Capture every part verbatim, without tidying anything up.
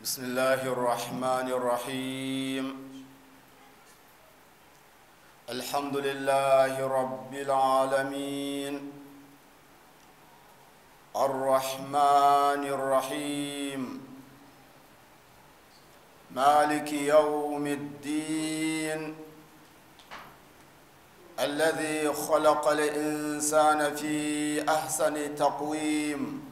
بسم الله الرحمن الرحيم. الحمد لله رب العالمين الرحمن الرحيم مالك يوم الدين الذي خلق الإنسان في أحسن تقويم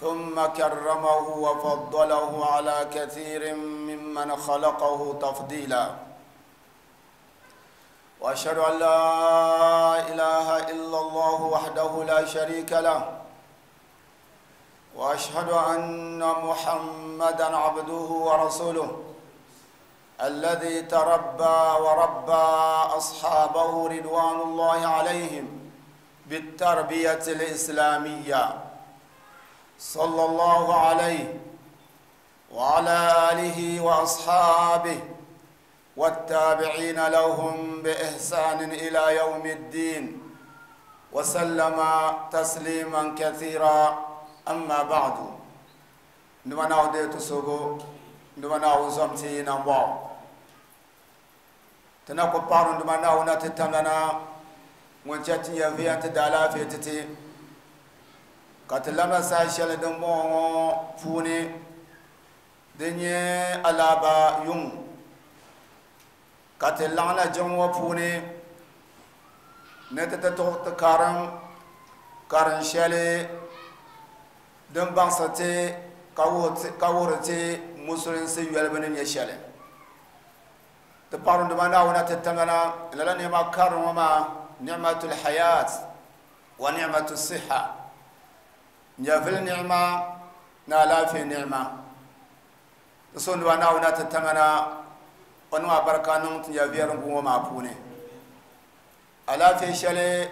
ثم كرمه وفضله على كثير ممن خلقه تفضيلا. وأشهد أن لا إله إلا الله وحده لا شريك له، وأشهد أن محمدا عبده ورسوله الذي تربى وربى أصحابه رضوان الله عليهم بالتربية الإسلامية، صلى الله عليه وعلى آله وأصحابه والتابعين لهم بإحسان إلى يوم الدين وسلم تسليما كثيرا. أما بعد، نمنا وديت سوغو نمنا وزمتي نمبو تنكو بارو نمنا ونتتمنا ونشتي يفيا تدالا في تتي كتلما ساشل دمو فوني دنيا ألابا يوم كتلنا جمو فوني نتتتوت كارم كارن شالي دم بانساتي كاورتي مسلم سي يلبن يشالي تبارون دمانا ونتتمنا لأن ما كارم وما نعمة الحياة ونعمة الصحة نيافل نعمة نالا في نعمة تصون دمانا ونتتمنا ونوا بركانون تنيافيرن وما بوني ألا في شالي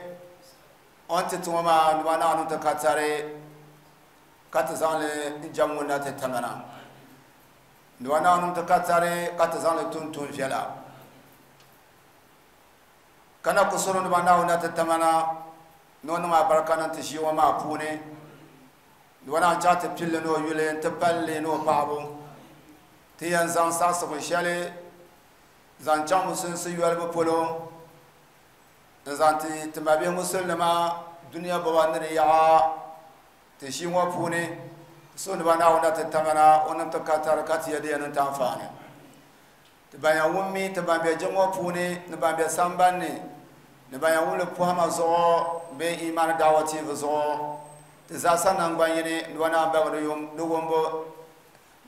أنت توما دمانا ونتكاتري كاتزان جامونا تتمنا دوانا نمتكاتري كاتزان تون تون فيلا كنا كسرون دوانا ونتتمنا نون ما بركانا تشي وما بوني دوانا جات بيل نو يولين تبالي نو بابو تيان زان ساس وشالي زان جامو سنسي يولب بولو زان تي تمابي مسلمة دنيا بوانري يا تشي وفوني سون بانا ونتتمنا ونتكاتر كاتيا دي نتانفاني تبايا ومي تبايا جمو فوني نبايا سامباني نبايا ولو بوهما زو بي ايمان دعوتي زو تزاسا نانغبانيني نوانا باغدو يوم نومبو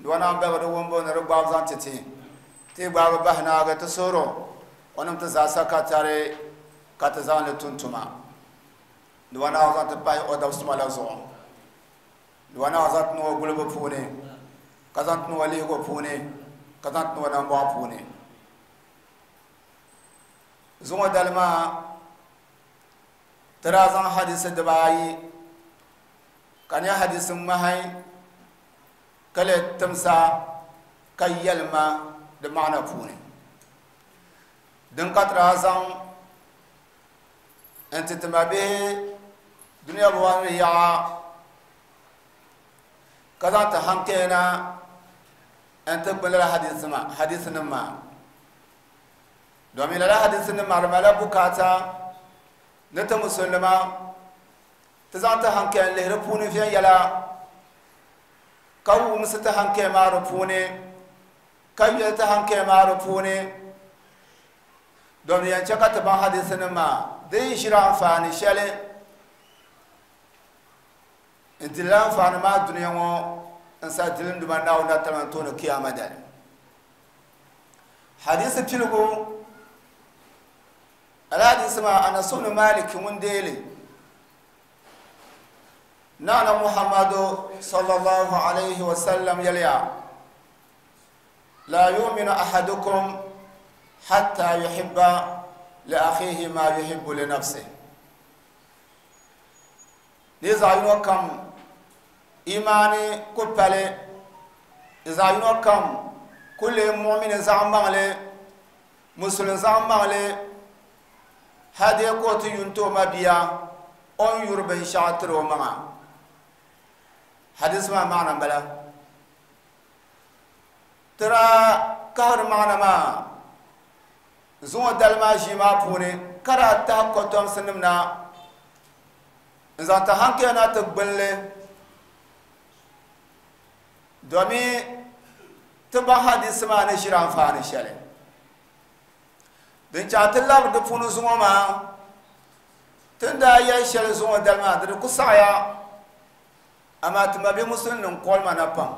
نوانا باغدو ومبو نربا زان تتي تي باغ بهنا تسورو ونم تزاسا كاتاري كاتزان لتونتما نوانا زان تباي او داوسما زو وانا زات نو غلب فوني كزانت نو ليغو فوني كزانت نو نامبو فوني زوما دالما ترازان حديث دباي كان حديث مهي كله تمسا كيلما دمانا فوني دن كترازان انت تمابي دنيا بوان يا كذا تهانكينا أنت بلا حديث ما حديث نما دومي لا حديث نما رملا بكاتا نت مسلمة تزان تهانكين له رفوني في يلا كاو مستهانكين ما رفوني كاو تهانكين ما رفوني دومي أنت كتب حديث نما دي شران فاني شلي انتلان فانا ما الدنيا مو انسا دلن دمان ناو نتلان تونو كياما دال حديث بيلغو الحديث ما أنا سون مالك من ديلي نانا محمد صلى الله عليه وسلم يليا لا يؤمن أحدكم حتى يحب لأخيه ما يحب لنفسه. إذا ينوكم إيماني كبالي إذا ينوكم كل مؤمن زعمالي مسلم زعمالي هذه يقوت ينتو ما بيا أن يربن شاطر وما حديث ما معنى بلا Tira kahari maana maa zuŋɔ dali maa ʒii maa puuni ka daa tahi kotomsi nim na n zaŋ ti hankali na ti gbunli domi ti baŋ hadisi maa ni ʒiri anfaani shɛli din chaŋ ti labiri di puuni zuŋɔ maa tin daa yɛli shɛli zuŋɔ dali maa di di ku saɣaya amaa ti ma bɛ musulin kɔlima na pam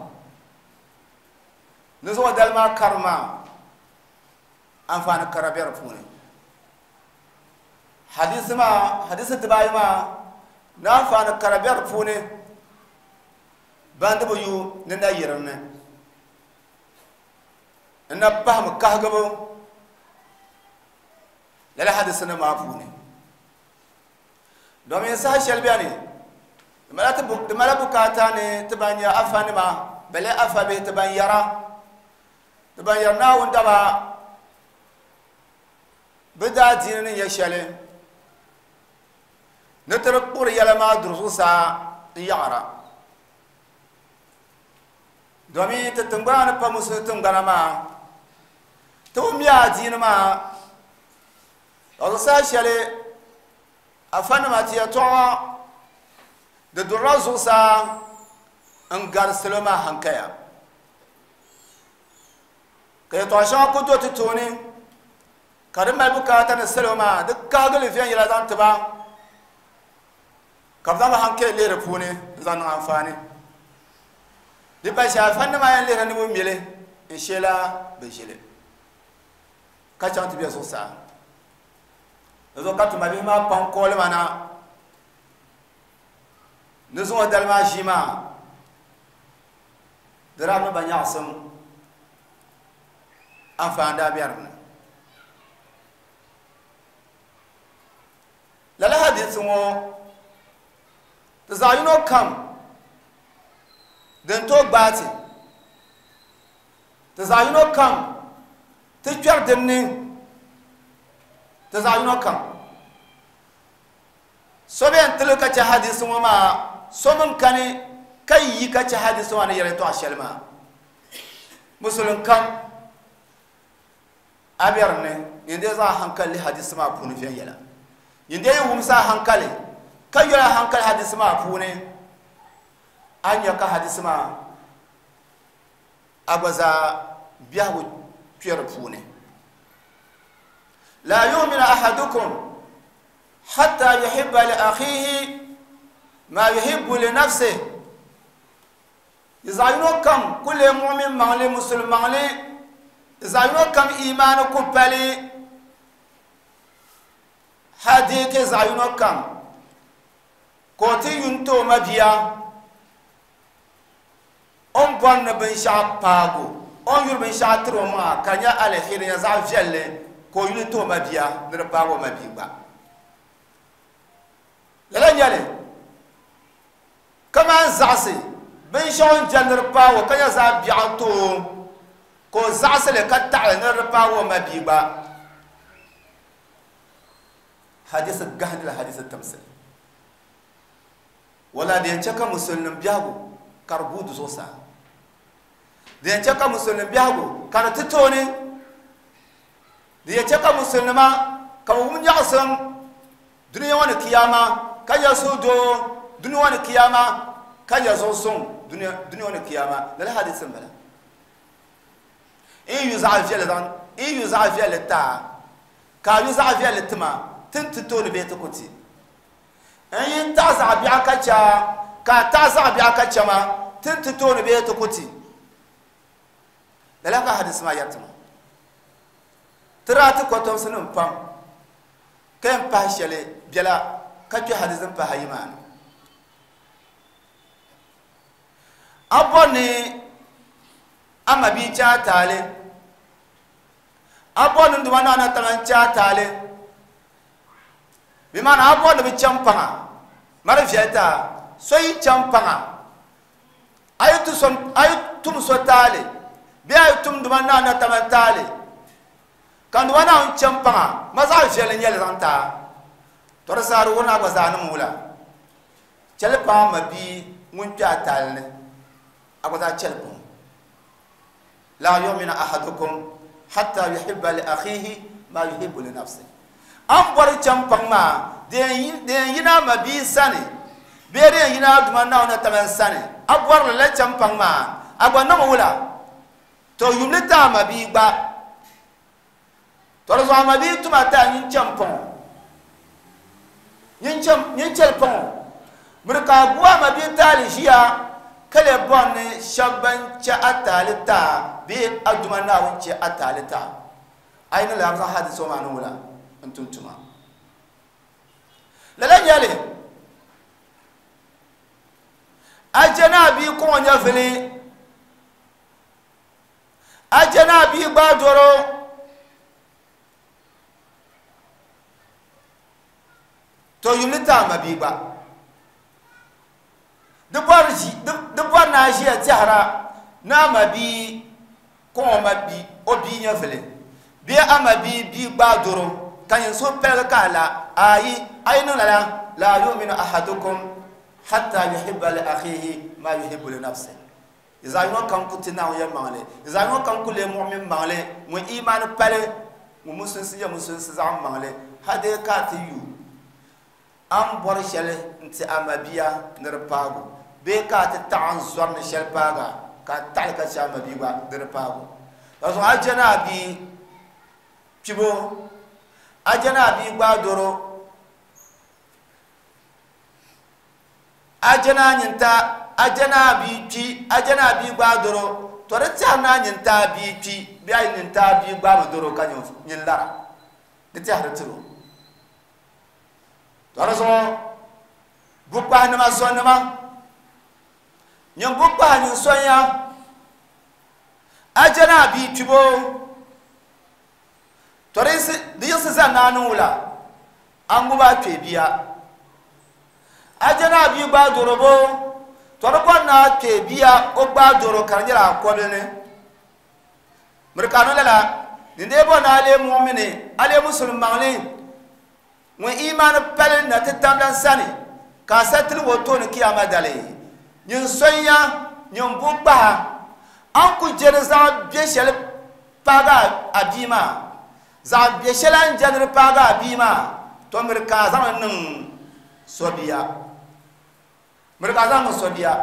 ni zuŋɔ dali maa kari maa anfaani kara bɛ di puuni hadisi maa hadisi dibaayi maa ni anfaani kara bɛ di puuni bandibu yu ni na yirim ni n na pahami kahigibu lala hadisi nim maa puuni domin saha shɛli bɛni di mala bukaata ni ti ban nyɛ afa nima bale afa bihi ti ban yɛra ti ban yɛri Naawuni daba bi daa diini ni nyɛ shɛli ni ti di kpuɣiri yɛla maa duri zuɣusaa n yaɣara domin ti tingbana ni pa musulin tingbana maa ti bi mi adiini maa ka saha shɛli afa nima ti yɛltɔɣa di durila zuɣusaa n gari salo maa hankaya ka yɛltɔɣa shɛŋa ku do ti tooni ka di mali bukaata ni salo maa di kahigili viɛnyɛla zaŋ tiba ka bi zaŋ bi hankali lihi di puuni n zaŋ niŋ anfaani di pa shɛli afa nima yɛn lihiri ni bi mili n sheela bi ʒili ka chaŋ ti bɛ zuɣusaa di zuɣu ka tuma bihi maa pam kooli ma na ni zuŋɔ dali maa ʒii maa di daa mi ba nyaɣasim anfaani daa bɛ dinni lala hadisi ŋɔ ti zaɣ yino kam din tooi gbaai ti ti zaɣ yino kam ti kpɛri dinni ti zaɣ yino kam so bɛn tili ka chɛ hadisi ŋɔ maa so min kani ka yi ka chɛ hadisi maa ni yɛli yɛltɔɣa shɛli maa musulin kam a bɛ dinni nyin dee zaŋ hankali lihi hadisi maa puuni viɛnyɛla nyin dee yi wumsi a hankali ka yɔli a hankali hadisi maa puuni a nya ka hadisi maa a gba zaa biɛhigu kpɛ di puuni la yu'minu ahadukum hatta yuhibba li akhihi ma yuhibbu li nafsihi di zaɣ yino kam ku lee mu'min maŋli musulin maŋli di zaɣ yino kam imaani ku pali hali zaɣ yino kam ka o ti yun ti o mabia o ni bɔri ni binshaɣu paago o ni yuri binshaɣu tiri o maŋa ka nyɛ aliheri nyɛ zaɣ viɛlli ka o yuli ti o mabia ni di paagi o mabia gba lala nyɛli kaman zaɣasi binshaɣu n jɛli ni di paagi o ka nyɛ zaɣ biɛɣu ti o ka o zaɣasi li ka taɣali ni di paagi o mabia gba hadisi gahindila hadisi timsi wala di yɛn chɛ ka musulin biɛhigu ka di guui di zuɣusaa di yɛn chɛ ka musulin biɛhigu ka di ti tooni di yɛn chɛ ka musulinima ka bi wum nyaɣasim duniya ŋɔ ni kiyama ka nyɛ suhudoo duniya ŋɔ ni kiyama ka nyɛ zuɣusuŋ duniya ŋɔ ni kiyama lala hadisi n bala n yu zaɣ viɛlli zaŋ n yu zaɣ viɛlli taa ka a yu zaɣ viɛlli tima tin ti tooni bee ti ku ti n yi taɣa zaɣ biɛɣu ka chɛ ka a taɣa zaɣ biɛɣu ka chɛ ma tin ti tooni bee ti ku ti lala ka hadisi maa yɛri ti ma ti daa ti kotomsi nim pam ka yɛn pahi shɛli biɛla ka kpɛ hadisi pahi ayi maa ni a bɔri ni a ma bia chɛ a taali a bɔri ni duma naana taŋa n chɛ a taali bi maana a bɔri ni bi chɛn paŋa ma di viɛli taa so yi chɛn paŋa a yi tum so taali bee a yi tum duma naana taŋa taali ka duma naawuni chɛn paŋa ma zaɣ viɛlli nyɛli zaŋ taa to di saha di wuhiri ni a gba zaa niŋ wula chɛli paŋa ma bia ŋun kpɛ a taali ni a gba zaa chɛli paŋ La yu'minu ahadukum hatta yuhibba li akhihi ma yuhibbu li nafsihi. An bɔri champaŋ maa din yina ma bia sani bee din yina duma Naawuni taman sani a bɔrili la champaŋ maa a gba niŋ wula to yumli ti a ma bia gba to di zuɣu a ma bia tuma ti a nyin champaŋ nyin chɛli paŋ miri ka a gu a ma bia taali ʒiya ka le bɔri ni shɛba ban chɛ a taali taa bee a duma Naawuni chɛ a taali taa a yi ni lahi zaŋ hadisi ŋɔ maa ni wula n tum tuma lala nyɛli a jɛ ni a bia kɔŋɔ nyɛvili a jɛ ni a bia gbaai dɔro to yumli ti a ma bia gba di bɔri ni a ʒiya tɛhira ni a ma bia kɔŋɔ ma bia o bia nyɛvili bee a ma bia bia gbaai dɔro ka nyin suhu paligi ka a la ayi a yi niŋ lala la yu'minu ahadukum hatta yuhibba li akhihi ma yuhibbu li nafsihi. Zaɣ yino kam ku ti Naawuni yɛlimaŋli zaɣ yino kam ku lee muɣmin maŋli ŋun imaani pali ŋun musulinsi nyɛ musulinsi zaɣ maŋli hadee ka a ti yu a ni bɔri shɛli n-ti a mabia ni di paagu bee ka a ti taɣi n zɔri ni shɛli paaga ka a taɣili ka chɛ a mabia gba ni di paagu ka zuɣu a jɛ ni a bia kpibo a jɛ ni a bia gbaai dɔro a jɛ ni a nyinta a jɛ ni a bia kpi a jɛ ni a bia gbaai dɔro to di tɛhiri ni a nyinta a bia kpi bee a nyinta a bia gbaami dɔro ka nyin lara di tɛhiri tiri o to di zuɣu bukpahinima sɔnnima nyin bukpahi nyin sɔnya a jɛ ni a bia kpibo to di yiɣisi zani ni a niŋ wula a ŋubi a kpee bia a jɛ ni a bia gbaai dɔro bo to di bɔri ni a kpee bia o gbaai dɔro ka di nyɛla a kɔbili ni miri ka a niŋ lala nindee bɔri ni a lee muɣmini a lee musulim maŋli ŋun imaani pali na ti tamlan sani ka a sa tiligi o tooni kiyama dali nyin sɔnya nyin bukpaha a ni ku jɛ ni zaɣ bɛ shɛli paagi a bia maa zaɣ bɛ shɛli a ni jɛ ni di paagi a bia maa to miri ka a zaŋli niŋ so bia miri ka a zaŋ niŋ so bia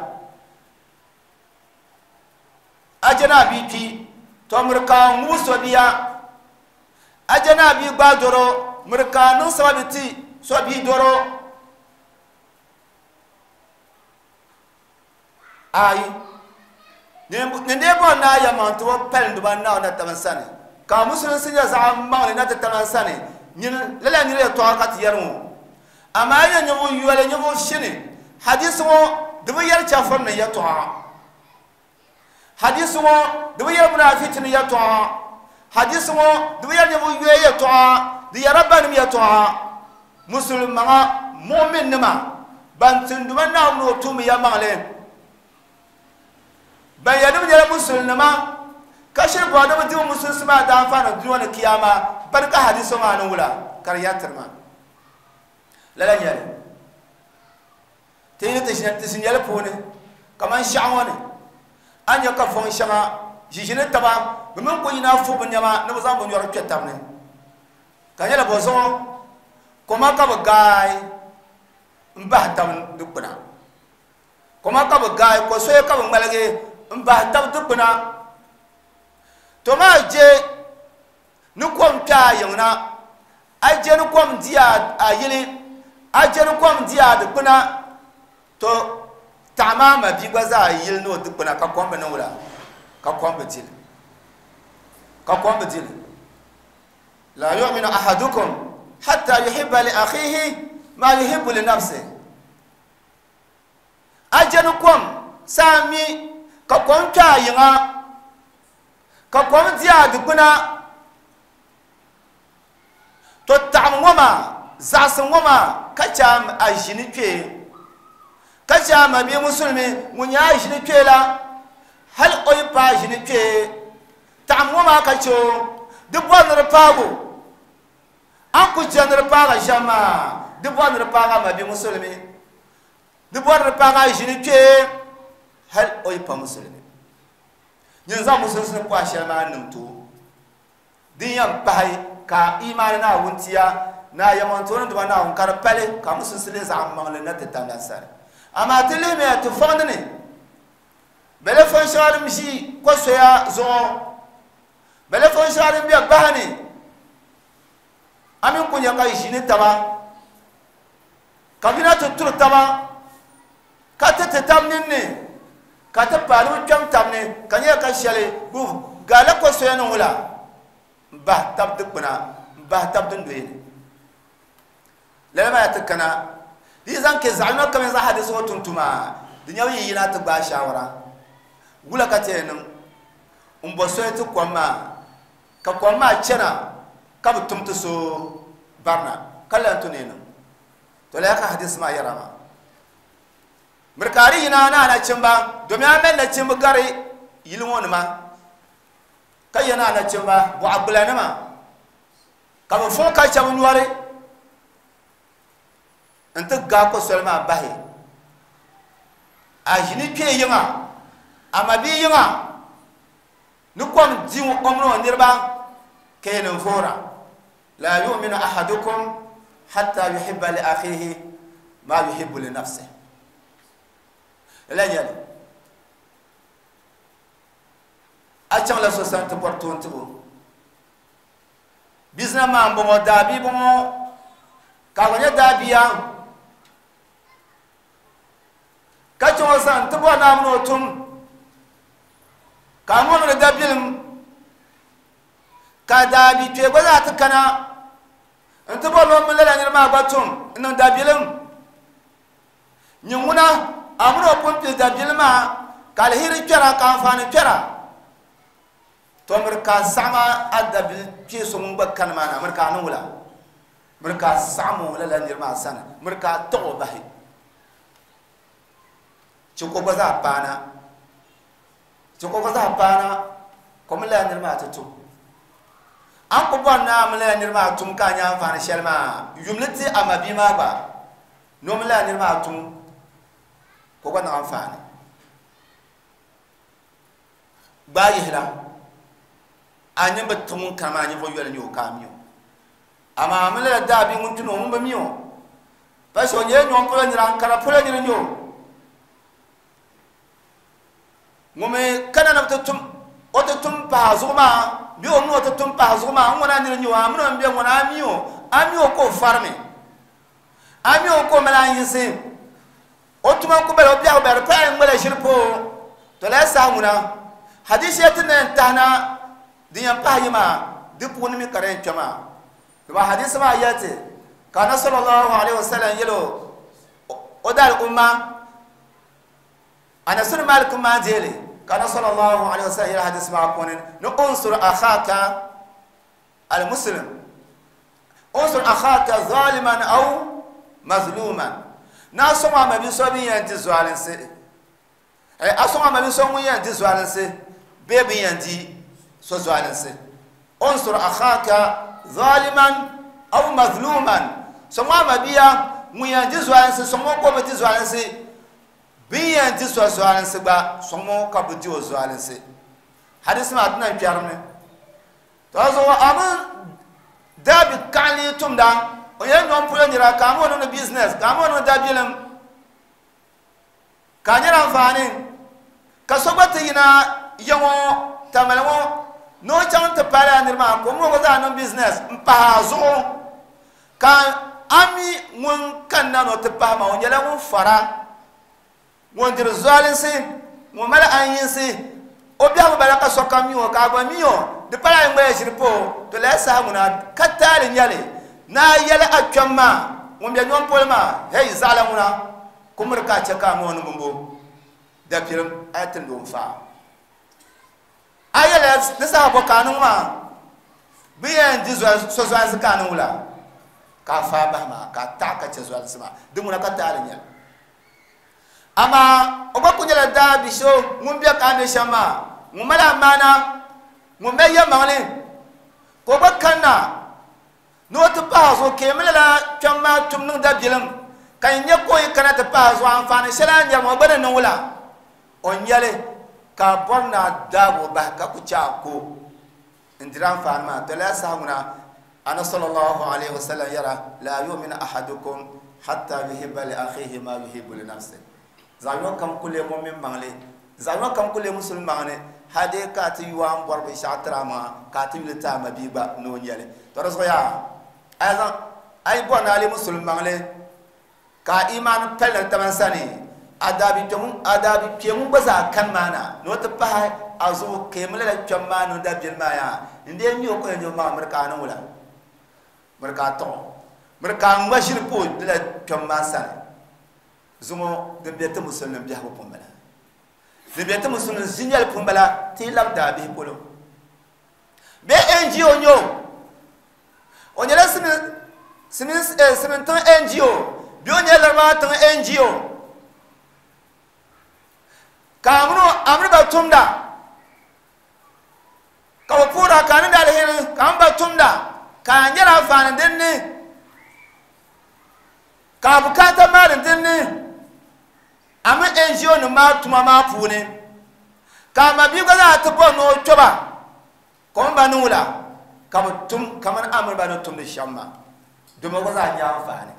a jɛ ni a bia kpi to miri ka a ŋubi so bia a jɛ ni a bia gbaai dɔro miri ka a niŋ sababi ti so bia dɔro ayi nindee bɔri ni a yɛlimaŋ ti o pali duba Naawuni na tabi sani ka musulinsi nyɛ zaɣ maŋli na ti tabi sani lala nira yɛltɔɣa ka ti yɛri ŋɔ amaa nyɛ ninvuɣ yoli ninvuɣ shini hadisi ŋɔ di bi yɛri chɛfuri ni yɛltɔɣa hadisi ŋɔ di bi yɛri munaafichi ni yɛltɔɣa hadisi ŋɔ di bi yɛri ninvuɣ yoya yɛltɔɣa di yɛrila banim yɛltɔɣa musulmaŋa muɣminnima ban tinduma Naawuni o tuumi yɛlimaŋli ban yɛli ni bi nyɛla musulnima ka shiri bɔri ni bi di bi musulinsi maa daanfaani dunia ni kiyama bani ka hadisi maa ni wula ka di yɛri tiri ma lala nyɛli ti yi ni ti ʒi nyɛli puuni kamani shɛɣu ŋɔ ni a nyɛ ka fɔŋ shɛŋa ʒiʒini taba bi mini ku yina fuɣi bi nɛma ni bi zaŋ bi nyɔri kpɛ tabi ni ka nyɛla bɔ zuɣu koma ka bi gaai n bahi tabi dikpuna koma ka bi gaai ko soya ka bi ŋmaligi n bahi tabi dikpuna to maa je ni kom kpɛ a yiŋ na a je ni kom di a yili a je ni kom di a dikpuna to taɣa maa ma bia gba zaa yili ni o dikpuna ka kom bi niŋ wula ka kom bi dili ka kom bi dili la yu'minu ahadukum hatta yuhibba li akhihi ma yuhibbu li nafsihi a je ni kom saa mi ka kom kpɛ a yiŋa ka kom di a dikpuna to taɣam ŋɔ maa zaɣasi ŋɔ maa ka chɛ a ʒini kpee ka chɛ a ma bia musulimi ŋun nyɛ a ʒini kpee la hali o yi paai ʒini kpee taɣam ŋɔ maa ka chɛ o di bɔri ni di paagu a ni ku chɛ ni di paaga shɛm maa di bɔri ni di paaga a ma bia musulimi di bɔri ni di paaga a ʒini kpee hali o yi pa musulimi Nyin zaŋ musulinsi ni pɔhi shɛli maa niŋ to din yɛn pahi ka imaani Naawuni tiya na yɛmɔntooni duma Naawuni ka di pali ka musulinsi lee zaɣ maŋli na ti tamla sani. Amaa ti lihimiya ti fɔŋdi ni bɛ le fɔn shɛŋa din ʒi kosoya zuɣu, bɛ le fɔn shɛŋa din be bahi ni a mini ku nya ka ʒini taba ka yina ti turi taba ka ti ti tab ninni ka ti paai ni bi kpɛm tab ni ka nyɛ ka shɛli bi gaala kosoya ni wula n bahi tab dikpuna n bahi tab dundoya ni. Lala maa ti kana di zaŋ ke zaɣ yino kam zaɣ hadisi ŋɔ tuntuma di nyɛ yi yina ti gbaai shaawara wula ka ti yɛn niŋ n bɔ soli ti kom maa ka kom maa chana ka bi tum ti so barina ka lan tu ni niŋ to lala ka hadisi maa yɛra maa. Mirikaari yina na anachimba domin a mali nachimba gari yili ŋɔ nima ka yɛ na anachimba bɔɣa gbula nima ka bi fɔŋ ka shɛba nyɔri n ti gaai kosoli maa bahi a ʒini kpee yiŋa a ma bia yiŋa ni kom di o mini o niriba ka yɛn niŋ voora la yu'minu ahadukum hatta yuhibba li akhihi ma yuhibbu li nafsihi. Lala nyɛli a chaŋla so sani ti bɔri toon tibo bizina maa n bɔŋɔ daabia bɔŋɔ ka gba nyɛ daabia ka chaŋ o sani ti bɔri ni a mini o tum ka a mɔŋ ni dabilim ka daabi kpee gba zaa ti kana n ti bɔri ni o mini lala niri maa gba tum n niŋ dabilim nyin ŋuna a mini o pun pili dabilim maa ka aliheri kpɛra ka anfaani kpɛra to miri ka saɣama a dabili kpee so ŋun gba kani maa na miri ka a niŋ wula miri ka a saɣam o lala niri maa sani miri ka a taɣi o bahi chɛ ka o gba zaa paana chɛ ka o gba zaa paana ka o mini lala niri maa ti tum. A ni ku bɔri ni a mini lala niri maa tum ka a nya anfaani shɛli maa yumli ti a ma bia maa gba ni o mini lala niri maa tum ka o gba niŋ anfaani. Gbaai yihila a nyin bi ti ŋun kana maa ninvuɣ yoli nyɛ o ka a mi o amaa a mini lala daabia ŋun kpini o ŋun bi mi o pa shɛ o nyɛla nyɔŋ polo nira Ankara polo nira nyɛ o ŋun mi kana ni bi ti tum o ti tum pahi zuɣu maa bee o mini o ti tum pahi zuɣu maa n ŋuna nira nyɛ o a mini o n bɛ ŋuna a mi o a mi o ka o farimi a mi o ka o mali anyinsi o tuma n ku bala o biɛhigu bala di paya n ŋmala ʒiri pa o to lala saha ŋuna hadisi shɛli ti ni yɛn tahi na din yɛn pahi yi maa di puuni mi ka di yɛn kpɛ maa dama hadisi maa yɛli ti ka anabi sallallahu alaihi wasallam yɛli o daali umma Anas bin Malik maa deeli ka anabi sallallahu alaihi wasallam yɛli hadisi maa puuni ni unsur akhaka al-muslim unsur akhaka zaliman aw mazluman na sɔŋ a ma bi so bin yɛn di zualinsi a sɔŋ a ma bi so ŋun yɛn di zualinsi bee bin yɛn di so zualinsi unsur akhaka zaliman aw mazluman sɔŋ a ma bia ŋun yɛn di zualinsi sɔŋ o ka o bi di zualinsi bin yɛn di so zualinsi gba sɔŋ o ka bi di o zualinsi. Hadisi maa ti na kpɛrimi to zuɣu a mi daabi kaɣali tumda o nyɛla nyɔŋ polo nira ka a mi o niŋdi business ka a mi o niŋdi dabilim ka a nyɛla anfaani ka so gba ti yina ya ŋɔ tamali ŋɔ ni o chaŋ ti paali a niri maa ka o mi o gba zaa niŋ business n pahi a zuɣu ka a mi ŋun kanna ni o ti pahi maa o nyɛla ŋun fara ŋun diri zualinsi ŋun mali anyinsi o biɛhigu bala ka sokam mi o ka a gba mi o di pala a yi ŋmaya ʒiri pa o to lala saha ŋuna ka taali nyɛli ni a yɛli a kpɛm maa ŋun bɛ nyɔŋ polo maa hei zaɣala ŋuna ku miri ka a chɛ ka a mi o ni bimbo dapirim a yi timdi o n faa a yɛli ni saha bɔ ka a niŋ maa bi yɛn di so zualinsi ka a niŋ wula ka a faa bahi maa ka a taɣi ka chɛ zualinsi maa di ŋuna ka taali nyɛli. Amaa o gba ku nyɛla daabi so ŋun bɛ ka a bɛ shɛm maa ŋun mali amaana ŋun mali yɛlimaŋli ka o gba kanna ni o ti pahi zuɣu ka mi lala kpɛm maa tum niŋ dabilim ka n nyɛ ka o yi kana ti pahi zuɣu anfaani shɛli a ni nyɛri maa o gba ni niŋ wula o nyɛli Ka bɔri na daago bahi ka ku chɛ a ko n diri anfaani maa to lala saha ŋuna ana sallallahu alaihi wasallam yɛra la yu'minu ahadukum hatta yuhibba li akhihi ma yuhibbu li nafsihi zaɣ yino kam ku leei mumin maŋli zaɣ yino kam ku leei musulin maŋli hali ka ti yuwa n bɔri binshaɣu tiri a maŋa ka ti yuli ti a mabia gba ni o nyɛli to di zuɣu yaa a yi zaŋ a yi bɔri ni a leei musulin maŋli ka a imaani pali ni taba sani a daabi kpɛ ŋun gba zaa kani maa na ni o ti pahi a zuɣu ka yi mi lala kpɛm maa ni o dabiɛli maa yaa n dee mi o ko yɛn nyɛ maa miri ka a niŋ wula miri ka a tɔɣo miri ka a ŋma ʒiri pa o lala kpɛm maa sani zuŋɔ din bɛ ti musulin biɛhigu pun bala din bɛ ti musulin zinɛli pun bala ti labi daabihi polo bee N G O nyɛ o o nyɛla simin tiŋ N G O bee o nyɛla laribawa tiŋ N G O ka amini ba tumda ka bi puhira ka a niŋdi aliheri ka amini ba tumda ka a nyɛla anfaani dinni ka a bukaata maani dinni a mi N G O nim maa tuma maa puuni ka a mabia gba zaa ti bɔri ni o kpɛba ka o mi ba niŋ wula ka bi tum kamani amini ba ni tumdi shɛm maa domi o gba zaa nyɛ anfaani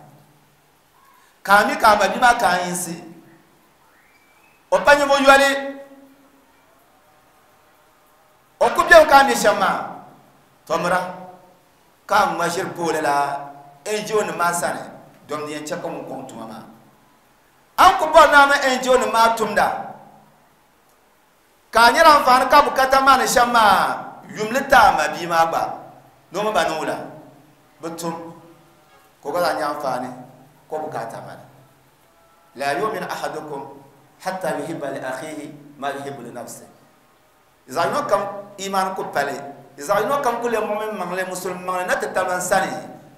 ka a mi ka a mabia maa ka a yinsi o pa nyɛ yoli o ku bɛmi ka a mi shɛm maa tɔmira ka a ŋma ʒiri pooli la N G O nim maa sani domi di yɛn chɛ ka ŋun kɔŋ tuma maa an ku bɔri ni a mi N G O nim maa tumda ka a nyɛla anfaani ka bukata maa ni shɛm maa yumli ti a mabia maa gba ni o mi ba niŋ wula bi tum ka o gba zaa nyɛ anfaani ka o bukata maa ni la yu'minu ahadukum hatta yuhibba li akhihi ma yuhibbu li nafsihi zaɣ yino kam imaan ku pali zaɣ yino kam ku leei mumin maŋli musulin maŋli na ti taman sani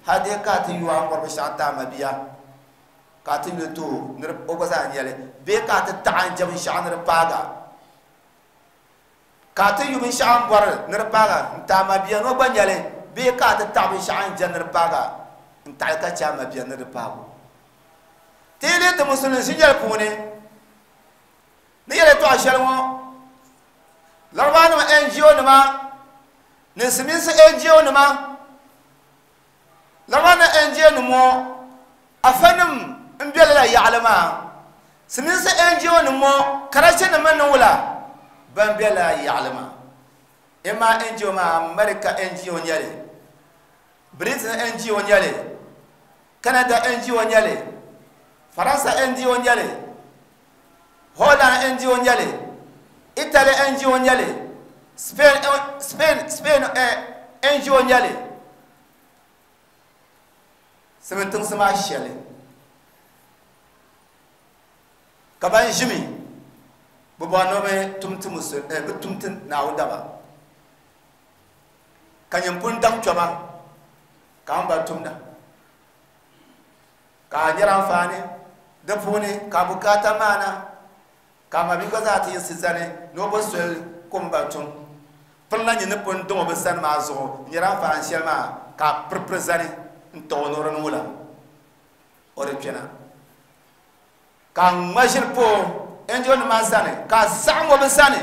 hali dee ka a ti yuwa n bɔri binshaɣu ti a mabia ka a ti yuli ti o ni o gba zaa nyɛli bee ka a ti taɣa n jɛ binshaɣu ni di paaga ka a ti yu binshaɣu n bɔri ni di paaga n ti a mabia ni o gba nyɛli bee ka a ti taɣa binshaɣu n jɛ ni di paaga n taɣali ka chɛ a mabia ni di paago ti yi lihi ti musulin ʒinyɛli puuni ni yɛli tɔɣa shɛli ŋɔ laribawa nim N G O nima ni siminsi N G O nima laribawa nim N G O nim ŋɔ afa nim n bɛ lala yaɣali maa siminsi N G O nim ŋɔ karachi nim ni wula ban bɛ lala yaɣali maa ima N G O maa America N G O nyɛli Britain N G O nyɛli Canada N G O nyɛli Faransa N G O nyɛli Holland N G O nyɛli Italy N G O nyɛli Spain Spain Spain N G O nyɛli simin tiŋsi maa shɛli ka ban ʒimi bi bɔri ni bi tum ti musul bi tum ti Naawuni daba ka nyin pun daŋ kpɛma ka an ba tumda ka a nyɛla anfaani di puuni ka bukaata maana ka mabia gba zaa ti yiɣisi zani ni o bo soli ka o mi ba tum pirila nyin ni pun daŋ o bi sani maa zuɣu n nyɛla anfaani shɛli maa ka a piripiri zani n taɣi o ni o di niŋ wula o di kpɛna ka a ŋma ʒiri pa o N G O nim maa sani ka a saɣam o bi sani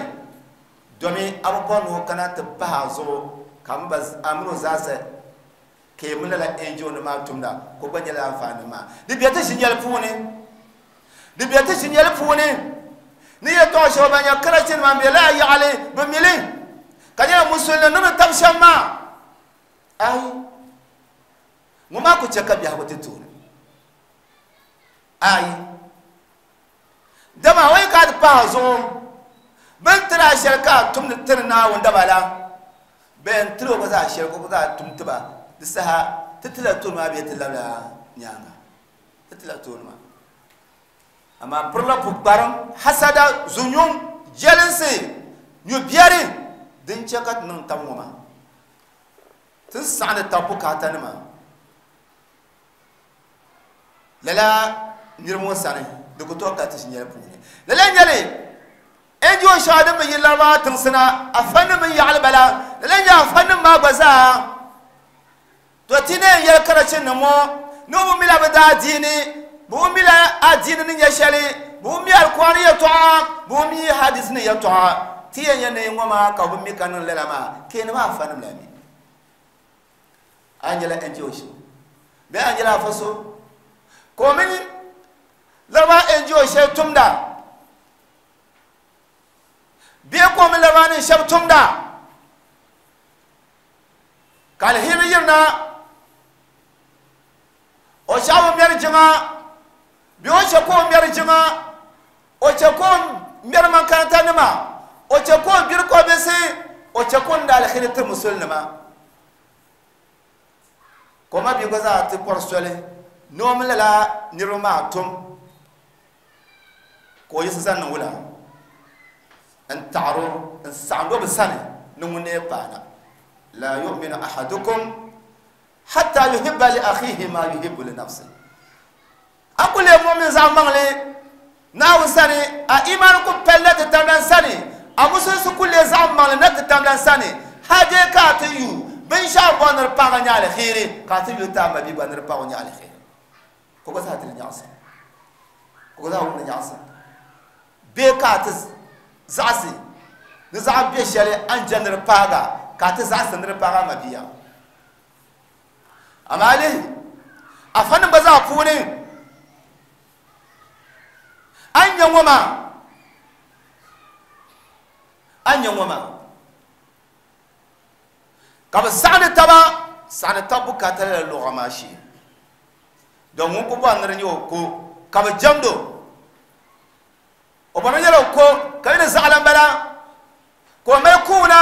domi a bi bɔri ni o kana ti pahi a zuɣu ka a mini o zaasa ka yi mi lala N G O nim maa tumda ka o gba nyɛla anfaani maa di bɛ ti ʒinyɛli puuni di bɛ ti ʒinyɛli puuni ni yɛltɔɣa shɛba ban nyɛ karachi nima n bɛ lala yaɣali bi mili ka nyɛla musulin ni bi tabi shɛm maa ayi ŋɔ maa ku chɛ ka biɛhigu ti tooni ayi dama o yi ka ti pahi zuɣu bin tiri a shɛli ka a tumdi tiri Naawuni daba la bɛn tiri o gba zaa shɛli ka o gba zaa tum tiba di saha ti tila tooni maa bee ti labila nyaanga ti tila tooni maa amaa pirila pukparim hasada zunyuŋ jɛlinsi nyubiɛri din chɛ ka ti niŋ tab ŋɔ maa ti saɣandi tab bukaata nima lala niriba ŋɔ sani di ku tooi ka ti ʒinyɛli puuni lala nyɛli N G O shɛŋa din bi yi laribawa tiŋsi na afa nim n yaɣali bala lala nyɛ afa nim maa gba zaa to ti ne yɛli karachi nim ŋɔ ni o bi mila bi daa diini Bumila adini ni nyesheli bumi alqur'ani ya to'a bumi hadith ni ya to'a tiye nyene ngoma ka bumi kanun lela ma kene ma afa nim lami anjela enjoshi be anjela faso ko min lama enjoshi tumda be ko min lama ni shab tumda kal hiriyirna o shabu mer jima bi o che ko mer jima o che ko mer makaranta nima o che ko bir ko be se o che ko ndal khirت musulma ko ma bi goza ti porsole no mlela niruma tum ko yisa nan wula an ta'ru an sa'ndo bisani nungune bana la yu'minu ahadukum hatta yuhibba li akhihi ma yuhibbu li nafsihi akule mu'min zamangle na usani a iman ku pellete tamdan sani a musun su kule zamangle na tamdan sani haje ka ti yu bin sha bonar pa ga nyale khiri ka ti yu ta ma bi bonar pa ga nyale khiri ko ko sa ti nyasa ko za ku nyasa be ka ti zasi ni za be shele an janar pa ga ka ti zasi nir pa ga ma biya amali afanin ba za ku ne an yanwama an yanwama ka ba sani taba sani tabu ka tare da lugha shi don mun ku ba nir yo ko ka ba jamdo o ba nyalo ko ka ni zalan bala ko mai kuna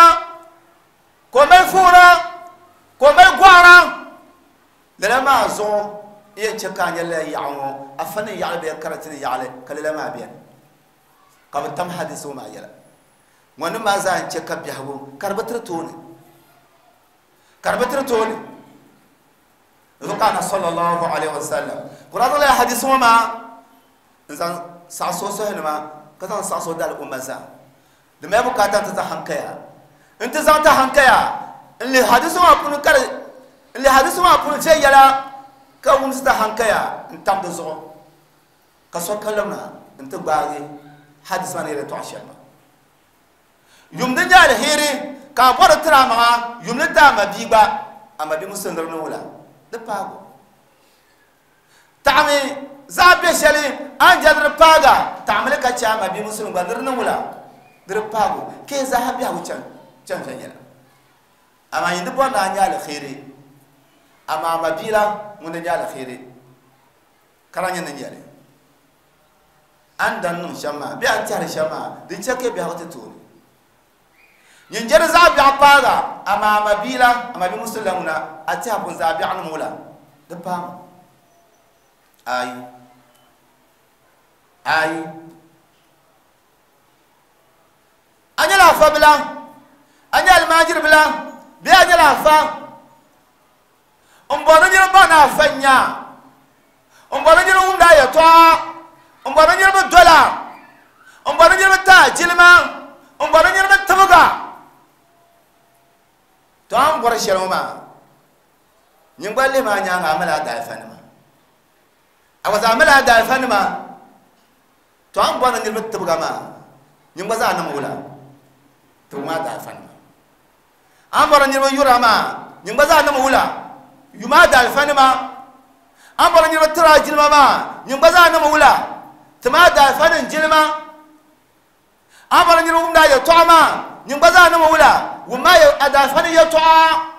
ko mai fura ko mai gwara lala ma zo iya ce ka nyala yawo afani ya be karatin ya ale kalala ma biyan ka ba tam hadisu ma yala wani ma za an ce ka bihawo karbatar to ne karbatar to ne zukana sallallahu alaihi wasallam qur'an la hadisu ma zan sa so so ma ka zan sa so dal umma za da mai bukata ta ta hankaya in ta za ta hankaya in li hadisu ma kun kar in li hadisu ma kun ce yala ka wumsi ta hankaya in tam da zo ka so kallamna in ta gbage hadis ma ne da to shema yum din ya alheri ka bora tira ma yum ne ta ma bi gba amma bi musun da wala da pago ta'ami za be sheli an jadar paga ta'amle ka cha ma bi musun gba dir wala dir pago ke za ha bi ha can can yala amma yin bo na nya alheri amma mabila mun nya alheri karanya nan yale an dan nun shama bi an tare shama din chake bi ha ta to yin jar za bi apaga amma mabila amma bi musulmuna a ta kun za bi an mula da fam ayi ayi anyala fabila anyal majir bila bi anyala fa umbono nyiro bana fanya umbono nyiro wumda ya to umbono nyiro dola umbono nyiro ta jilma umbono nyiro tabuga to an bor sheloma nyingba le ma nyanga amala da fanima awaza amala da fanima to an bono nyiro tabuga ma nyingba za na mula to ma da fanima an bor nyiro yura ma nyingba za na mula yuma da alfanima an bar nyirba tira jilma ma nyingba za na mawula tuma da alfanin jilma an bar nyirba wumda ya to'a ma nyingba za na mawula wumma ya da alfanin ya to'a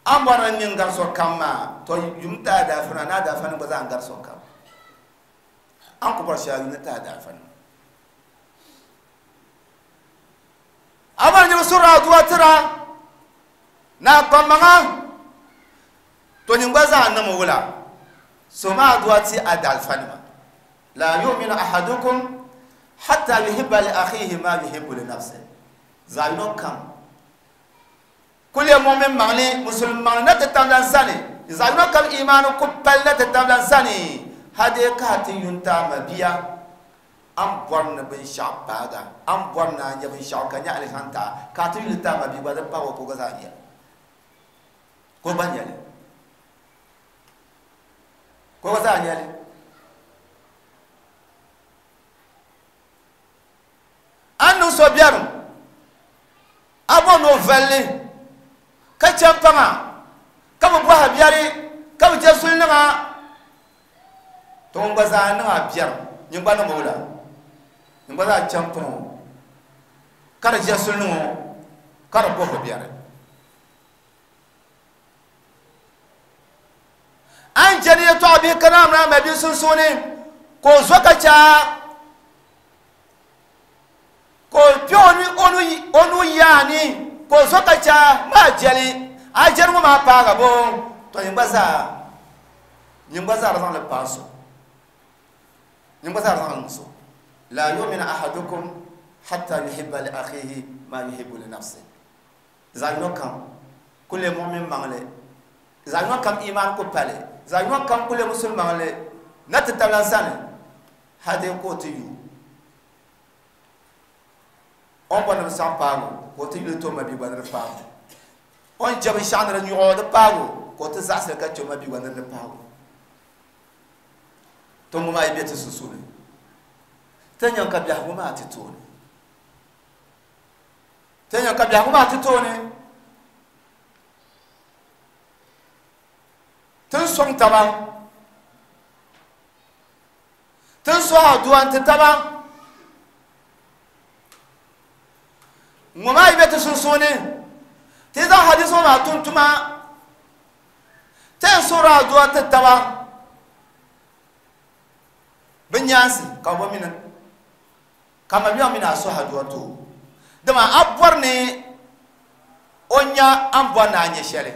an bar nyin garso kamma to yumta da alfana na da alfanin ba za an garso kam an ku bar shi ta da alfanin amma ni sura duwa tira na komanga to ni gwaza na mawula so ma duwa ti adal fanima la yu'minu ahadukum hatta yuhibba li akhihi ma yuhibbu li nafsihi zalno kam kulli mu'min ma'ni musulman na tatamlan sani zalno kam imanu kuppal na tatamlan sani hade ka ti yunta mabiya an borna bin shabaga an borna nya bin shaka nya alhanta ka tu yulta ma bi ba da pawo ko gazaniya Ko gba nyɛli ko gba zaa nyɛli a niŋ so biɛrim a bɔ ni o valli ka chɛ paŋa ka bi bɔha biɛri ka bi je suli niŋa to ŋun gba zaa niŋ a biɛrim nyin gba niŋ o la nyin gba zaa chɛ paŋ o ka di je suli niŋ o ka di bɔhi biɛri an jɛni yɛltɔɣa bihi ka naam naa ma bi sunsuuni ka o zo ka chaa ka o kpe o nuu yaani ka o zo ka chaa maa jɛli a jɛli ŋɔ maa paaga bo to nyin gba zaa nyin gba zaa di zaŋli paai so nyin gba zaa di zaŋli niŋ so la yu'minu ahadukum hatta yuhibba li akhihi ma yuhibbu li nafsihi zaɣ yino kam ku leei mu'min maŋli zaɣ yino kam iman ku pali zaɣ yino kam ku leei musulin maŋli na ti tabila sani hali ka o ti yu o ni bɔri ni bi saɣim paagu ka o ti yuli ti o mabia gba ni di paagu o ni jɛ binshaɣu ni di nyuɣu di paagu ka o ti zaɣasili ka chɛ o mabia gba ni di paagu to ŋɔ maa yi bɛ ti sunsuuni ti nyaŋ ka biɛhigu maa ti tooni ti nyaŋ ka biɛhigu maa ti tooni tin sɔŋ taba tin sɔh aduwa n ti taba ŋɔ maa yi bɛ ti sunsuuni ti zaŋ hadisi ŋɔ maa tum tuma ti yɛn suhuri aduwa ti taba bi nyaansi ka bi mini ka ma biɛŋ mini a suhi aduwa ti o dama a bɔri ni o nya a ni bɔri ni a nyɛ shɛli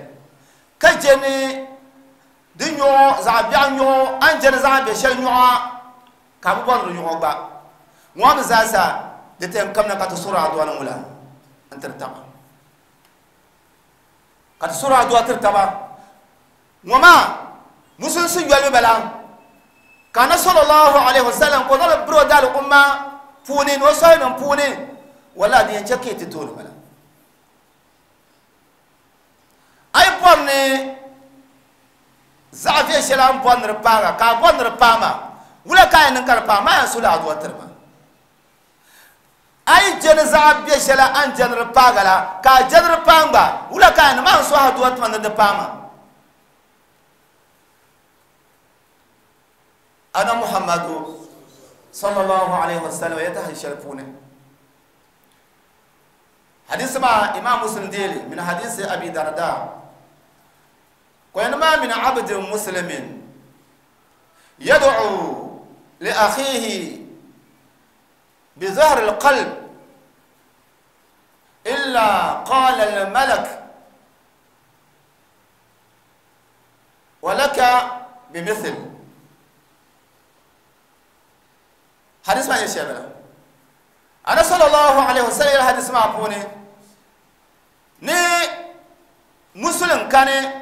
ka je ni di nyuɣu zaɣ biɛɣu nyuɣu a ni je ni zaɣ bɛ shɛli nyuɣu ka a bi bɔri di nyuɣu gba ŋɔ mi zaasa di ti yɛn kamina ka ti suhuri aduwa ni ŋula n tiri taba ka ti suhuri aduwa tiri taba ŋɔ maa musulinsi yoli mi bala ka na sallallahu alaihi wasallam ko zaŋ biro daali umma puuni ni o sɔhinim puuni wala di yɛn chɛ ka yi ti tooni bala a yi bɔri ni zaɣ viɛ shɛli a ni bɔri ni di paaga ka a bɔri ni di paai maa wula ka a yɛn niŋ ka di paai maa yɛn suhula aduwa tiri ma a yi je ni zaɣ bɛ shɛli a ni je ni di paaga la ka a je ni di paai gba wula ka a yɛn niŋ maa yɛn suhi aduwa tima ni di paai maa ana Muhammadu sallallahu alaihi wasallam ya ta hadisi puuni hadisi ma Imam Muslim deli min hadisi Abi Darda ko ma min abdin muslimin yad'u li akhihi bi zahr al-qalb illa qala al-malak wa laka bimithl hadis ma yeshabala ana sallallahu alaihi wasallam hadis ma puni ni muslim kane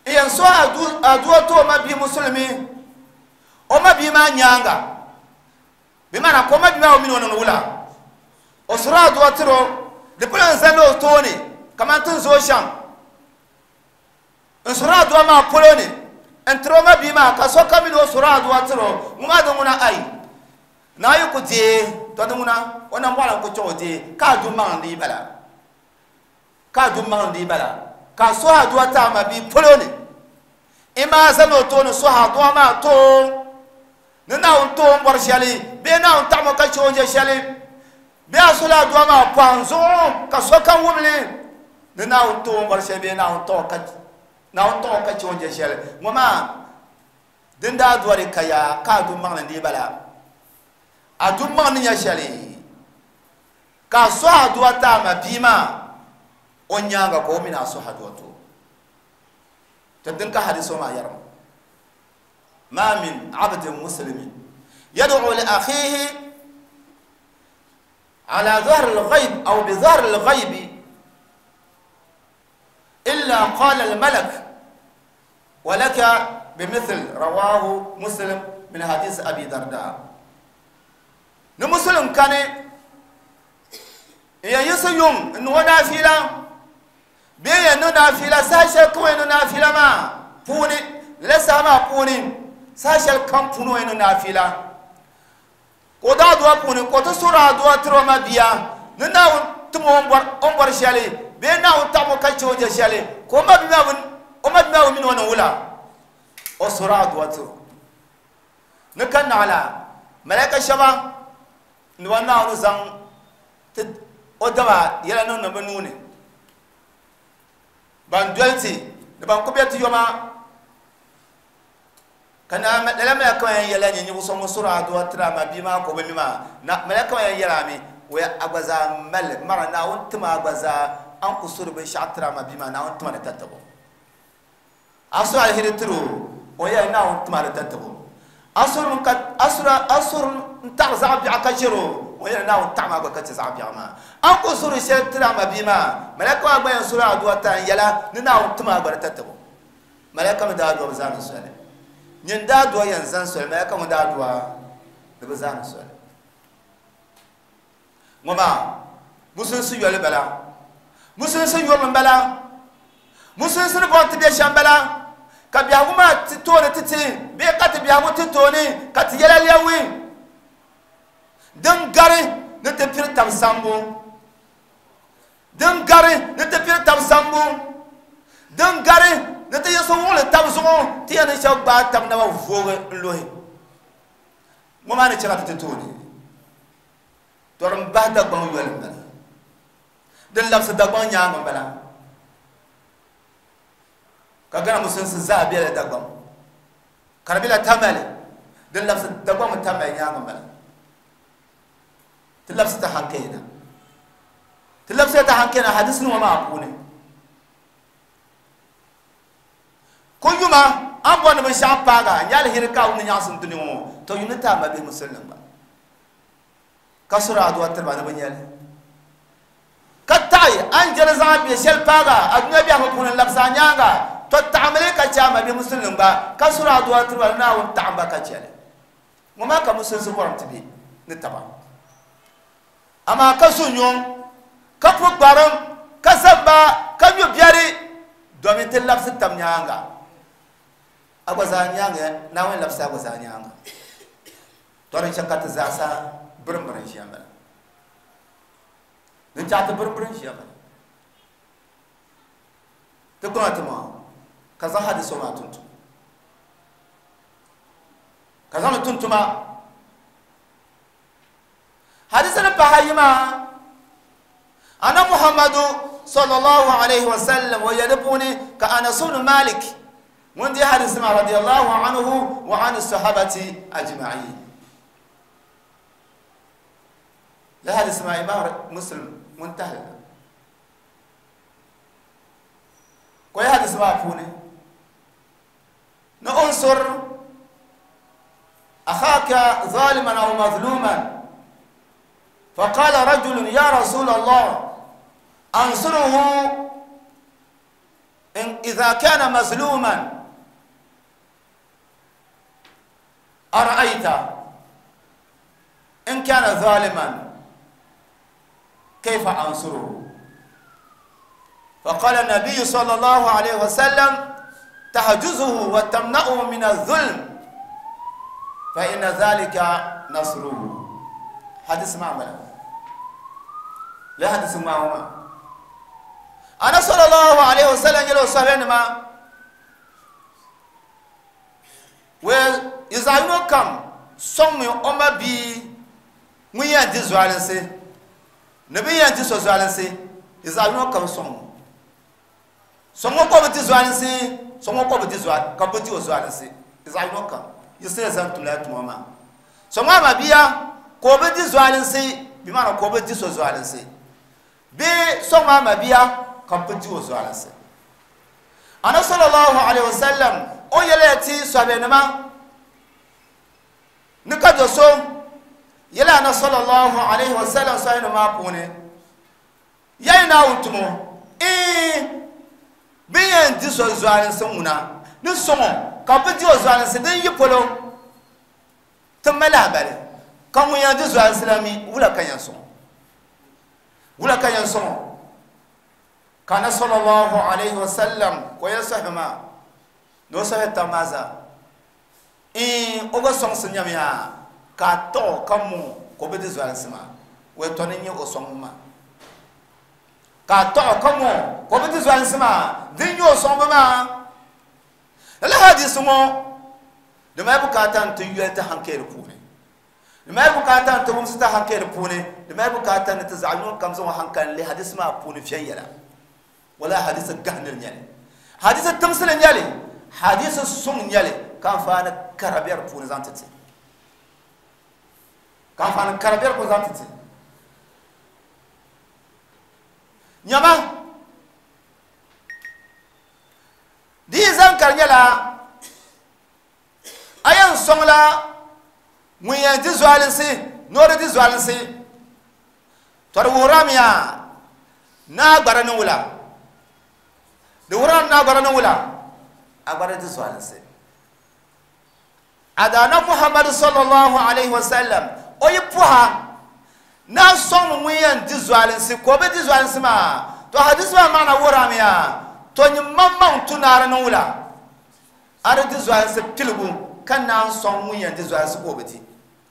iyan so adu aduwa to ma bi muslimi o ma bi ma nyanga bi mana ko ma bi ma o min wono wula o sura aduwa tiro de plan zalo toni kaman tun zo sham in sura aduwa ma poloni entro ma bi ma ka so kamin o sura aduwa tiro nguma do nguna ai na yi ku je to do nguna ona mbala ku cho je ka du man di bala ka du man di bala ka so aduwa ta ma bi poloni ima zalo to no so aduwa ma to ni na on to mbor shali be na on ta mo ka cho je shali be asola aduwa ma panzo ka so kan wumli ni na on to mbor shali be na on to ka na on to ka cho je shali ngoma dinda aduwa ri kaya ka du man di bala adu man ni ya shali ka so aduwa ta ma bi ma o nyanga ko mina so aduwa to to din ka hadiso ma yarma ma min abdin muslimin yad'u li akhihi ala dhahr al-ghayb aw bi dhahr al-ghayb illa qala al-malak wa laka bimithل rawahu muslim min hadith abi darda ni muslim kane ya yusuyum in wada fila Bee yan niŋ naafila saha shɛli kam o yɛn niŋ naafila maa puuni lala saha maa puuni saha shɛli kam puuni o yɛn niŋ naafila ka o daa dua puuni ka o ti suhuri adua tiri o ma bia ni Naawuni tim o ni bɔri shɛli bee Naawuni taɣim o ka che o je shɛli ka o ma bia maa bi mini o ni wula o suhuri adua tiri o ni ka naɣila malaika shɛba ni ba Naawuni zaŋ ti o daba yɛla niŋ ni bɛ nuu ni ban doli ti ni ban ku be ti yoma ka na lala malaka maa yɛn yɛla nyɛ ninvuɣu so ŋun suri adua tiri a ma bia maa ka o bi mi maa na malaka maa yɛn yɛla mi o ya a gba zaa mali mara Naawuni tima a gba zaa a ni ku suri binshaɣu tiri a ma bia maa Naawuni tima di tatabo a suri aliheri tiri o o yɛla Naawuni tima di tatabo a suri ka a suri a suri n taɣari zaɣ biɛɣu ka chɛri o o yɛla Naawuni taɣama a gba ka chɛ zaɣ biɛɣu maa a ni ku suri shɛli tiri a ma bia maa malaka maa gba yɛn suri adua tira n yɛla ni Naawuni tima a gba di tatabo malaka mi daa dua bi zaani soli nyin daa dua yɛn zani soli malaka ŋun daa dua di bi zaani soli ŋɔ maa musulinsi yoli bala musulinsi yurili n bala musulinsi ni bɔri ti bɛ shɛm bala ka biɛhigu maa ti tooni ti ti bee ka ti biɛhigu ti tooni ka ti yɛla lɛwi din gari ni ti piri tab sambu din gari ni ti piri tab sambu din gari ni ti yiɣisi wuɣili tab zuɣu ti yɛn ni shɛba gbaai tab naba voogi n lohi ŋɔ maa ni chɛ ka ti ti tooni to din bahi Dagbaŋ yoli n bala din labisi Dagbaŋ nyaanga n bala ka Ghana musulinsi zaa bela Dagbaŋ ka di bela Tamale din labisi Dagbaŋ mi Tamale nyaanga n bala ti labisi ti hankali na ti labisi ti hankali na hadisi nima maa puuni ko yuma an bɔri ni binshaɣu paaga n nyɛ aliheri ka a wum ni nyaɣasim dini ŋɔ to yumi ti a ma bihi musulinim gba ka suri adua tiriba ni bi nyɛli ka taɣi an jɛli zaŋ bɛ shɛli paaga a dunia biɛhigu puuni n labisi a nyaanga to taɣamili ka chɛ a ma bihi musulinim gba ka suri adua tiriba ni Naawuni taɣim ba ka chɛli ŋɔ maa ka musulinsi bɔrim ti bɛ ni taba amaa ka zu nyuŋ ka pu gbarim ka zamba ka nyu biɛri domin ti labisi tab nyaanga a gba zaa nyaanga Naawuni labisi a gba zaa nyaanga to din chɛ ka ti zaasa birim birim ʒiya bala din chɛ ti birim birim ʒiya bala ti kpaŋa ti maŋa ka zaŋ hadisi maa tuntuma ka zaŋ li tuntuma hadisi ni pahi ayi maa ana Muhammadu sallallahu alaihi wasallam o yɛli puuni ka Anas ibn Malik ŋun di hadisi maa radiyallahu anhu wa an sahabati ajma'in la hadisi maa Imam Muslim ŋun tahili na ko ya hadisi maa puuni ni unsur akhaka zaliman aw mazluman فقال رجل يا رسول الله أنصره إن إذا كان مظلوما أرأيت إن كان ظالما كيف أنصره؟ فقال النبي صلى الله عليه وسلم تحجزه وتمنعه من الظلم فإن ذلك نصره. حديث معمل لا حديث معهما أنا صلى الله عليه وسلم يلو صحبين ما ويزاينو كم صمي أما بي ŋun di zualinsi ni bin yɛn di so zualinsi di zaɣ yino kam sɔŋ sɔŋ ŋɔ ka bi di zualinsi sɔŋ ŋɔ ka bi di zual ka bi di o zualinsi di zaɣ yino kam yisiri zaŋ tumla tuma maa sɔŋ maa ma bia ka o bi di zualinsi bi maana ka o bi di so zualinsi bee sɔŋ maa ma bia ka bi di o zualinsi ana sallallahu alaihi wasallam o yɛlɛ ti sɔbɛnima ni ka do so yɛlɛ ana sallallahu alaihi wasallam sɔbɛnima maa puuni yayi naawuni tumo ee bin yɛn di so zualinsi ŋuna ni sɔŋɔ ka bi di o zualinsi din yi polo ti mali lahabali ka ŋun yɛn di zualinsi la mi wula ka yɛn sɔŋɔ wula ka yɛn sɔŋɔ Kana sallallahu alayhi wa sallam ko ya sahima no sahi tamaza in o ga song sun ya ka to kamu ko be di zwal sima we to ni o song ma ka to kamu ko be di zwal sima din yo song ma la hadis mo de ma bukata tun yelta hankali ku ne de ma bukata tun mumsa ta hankali ku ne de ma bukata ta zalun kam zo hankali hadis ma ku ne fiyan yala wala hadis gahnil nyale hadis tamsil nyale hadis sung nyale kan fa na karabiyar puni zantati kan fa na karabiyar puni zantati nyama di zan karnyala ayan songla muyan di zwalinsi nore di zwalinsi tor wuramiya na gbarani wula de wuran na gbarani wula agbara di zwalinsi adana Muhammad sallallahu alaihi wasallam oyi puha na song muyan di zwalinsi ko be di zwalinsi ma to hadis ma mana wuramiya to ni mamman tunara nan wula ar di zwalinsi tilgu kan na song muyan di zwalinsi ko be di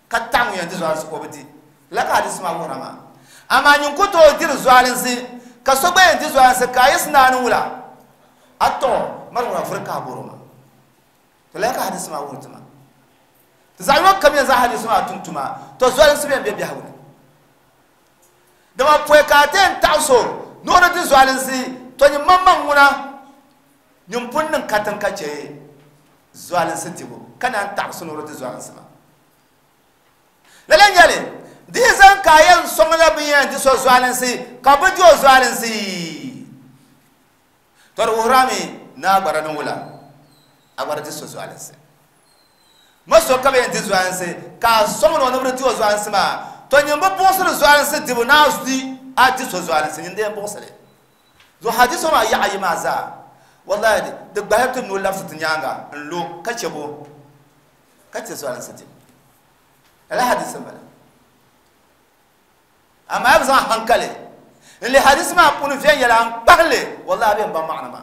ka tang muyan di zwalinsi ko be di la ka hadis ma wurama amma nyin ko to dir zwalinsi ka so gbe di zwalinsi ka yisna nan wula ato marwa furka boroma to la ka hadis ma wurtuma zalwa kam ya za hadis ma tuntuma to zwalin su be be hawne da ma poe ka ten taso no no di zwalin si to ni mamman wuna nyum punnin katan kace zwalin si tibo kana taso no di zwalin si ma lalan yale di zan kayan songla biyan di so zwalin si ka bu di zwalin si tor wurami na gbarani wula agbara di so zwalin si maso ka be di zwanse ka somo no no di zwanse ma to nyimbo bosere zwanse dibu na di a di so zwanse nyinde bosere zo hadiso ma ya ayi maza wallahi de gbahetu no lafsu tinyanga nlo ka chebo ka che zwanse di ala hadiso bala amma yabza hankale li hadis ma kunu fiyan yala an pahle wallahi ben ba ma'ana ma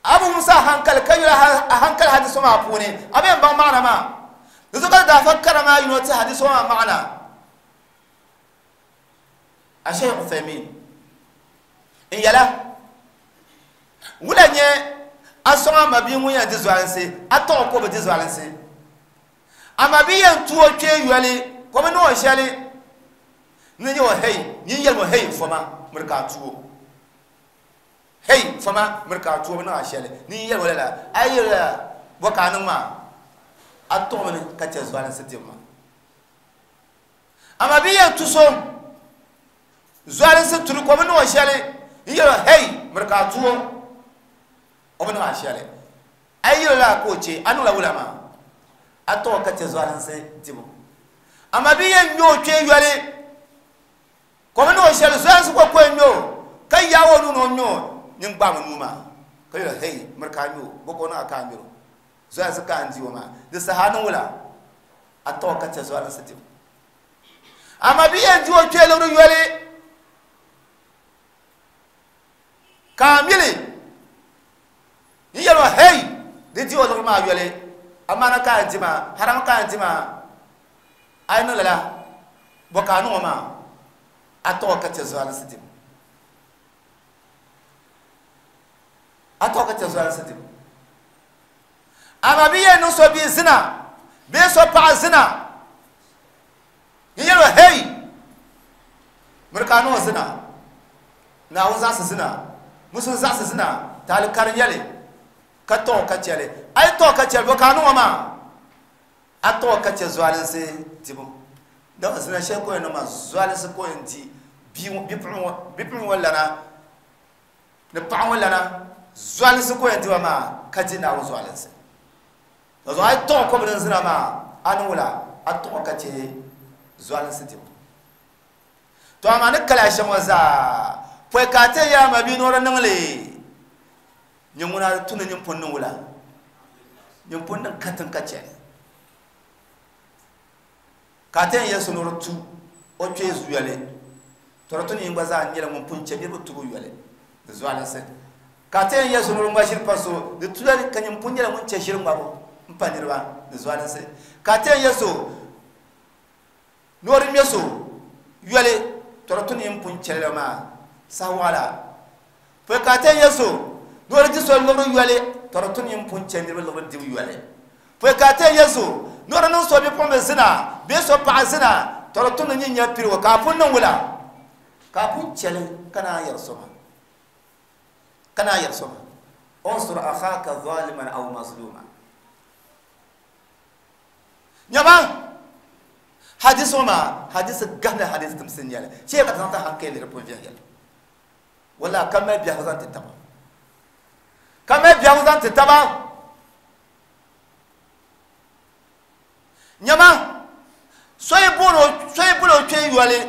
abu musa hankal kan yala hankal hadiso ma pune abin ban ma'ana ma da zuka da fakkara ma yino ta hadiso ma ma'ana a shaykh Uthaymin in yala wula nye asoma ma bi mun ya di zwalansi ato ko be di zwalansi amma bi yan tuwo ke yoli ko bi no shali ni yo hey ni yel mo hey foma murka tuwo hey fama murka tuwo na shele ni yel wala la ayira boka ma ato mun ka ce zwalansi timma amma bi yan tuso zwalansi turu ko bi no shali ni yel hey murka tuwo o na shele ayira la ko ce anu la wula ma ato ka ce zwalansi timma amma bi yan nyo ke yole ko bi no shele zwalansi ko ko nyo kai yawo nu no nyo nin gba mu numa kai la hey murka nyo boko na aka miro zwalansi ka anji wa ma de sahanu wula ato ka ce zwalansi timma amma bi yan jiwo ke lori yole kamili ni yelo hey de jiwo lori ma yole amana ka anji ma haram ka anji ma ay no la boka no ma ato ka ce zwalansi timma ato ka ce zwalansi timma amma bi yan no so bi zina bi so pa zina yelo hey murka no zina na wo za su zina musun za su zina talikar yale ka to ka cele ai to ka cele boka no ma a to ka ce zwalin sai tibu da zina she ko no ma zwalin sai ko inti bi bi bi wala na ne pa wala na zwalin sai ko inti ma ka ji na wo zwalin sai to ai to ko bin zina ma an wala a to ka ce zwalin sai tibu to amma ni kala shan waza foi ka te ya ma bi nora nangle nyunguna tunu nyum pon wula nyum pon nan katan kace ka te ya so nora tu o twe zuyale to to ni ngbaza nyela mun pon che bi tu yale Di zualinsi ka ti yɛn yɛ so ni o ŋma ʒiri pa so di tula ka nyin pun nyɛla ŋun chɛ ʒiri ŋmabu n pa niriba di zualinsi ka ti yɛn yɛ so ni o di ŋmɛ so yoli to di tu ni yin pun chɛli maa saha waɣala pɔi ka ti yɛn yɛ so ni o di di so liɣiri yoli to di tu ni yin pun chɛ niriba liɣiri dibu yoli pɔi ka ti yɛn yɛ so ni o di niŋ so bipuɣinbi zina bee so paɣa zina to di tu ni nyin nyɛ pirigu ka a pun niŋ wula ka a pun chɛli ka naan yɛri so maa kana yarsoma unsur akhaka zaliman aw mazluma nyama hadis ma hadis gahna hadis timsin yala che ka tan ta hankali rupun viyan yala wala kama biya zan taba kama biya zan taba nyama soy bolo soy bolo che yole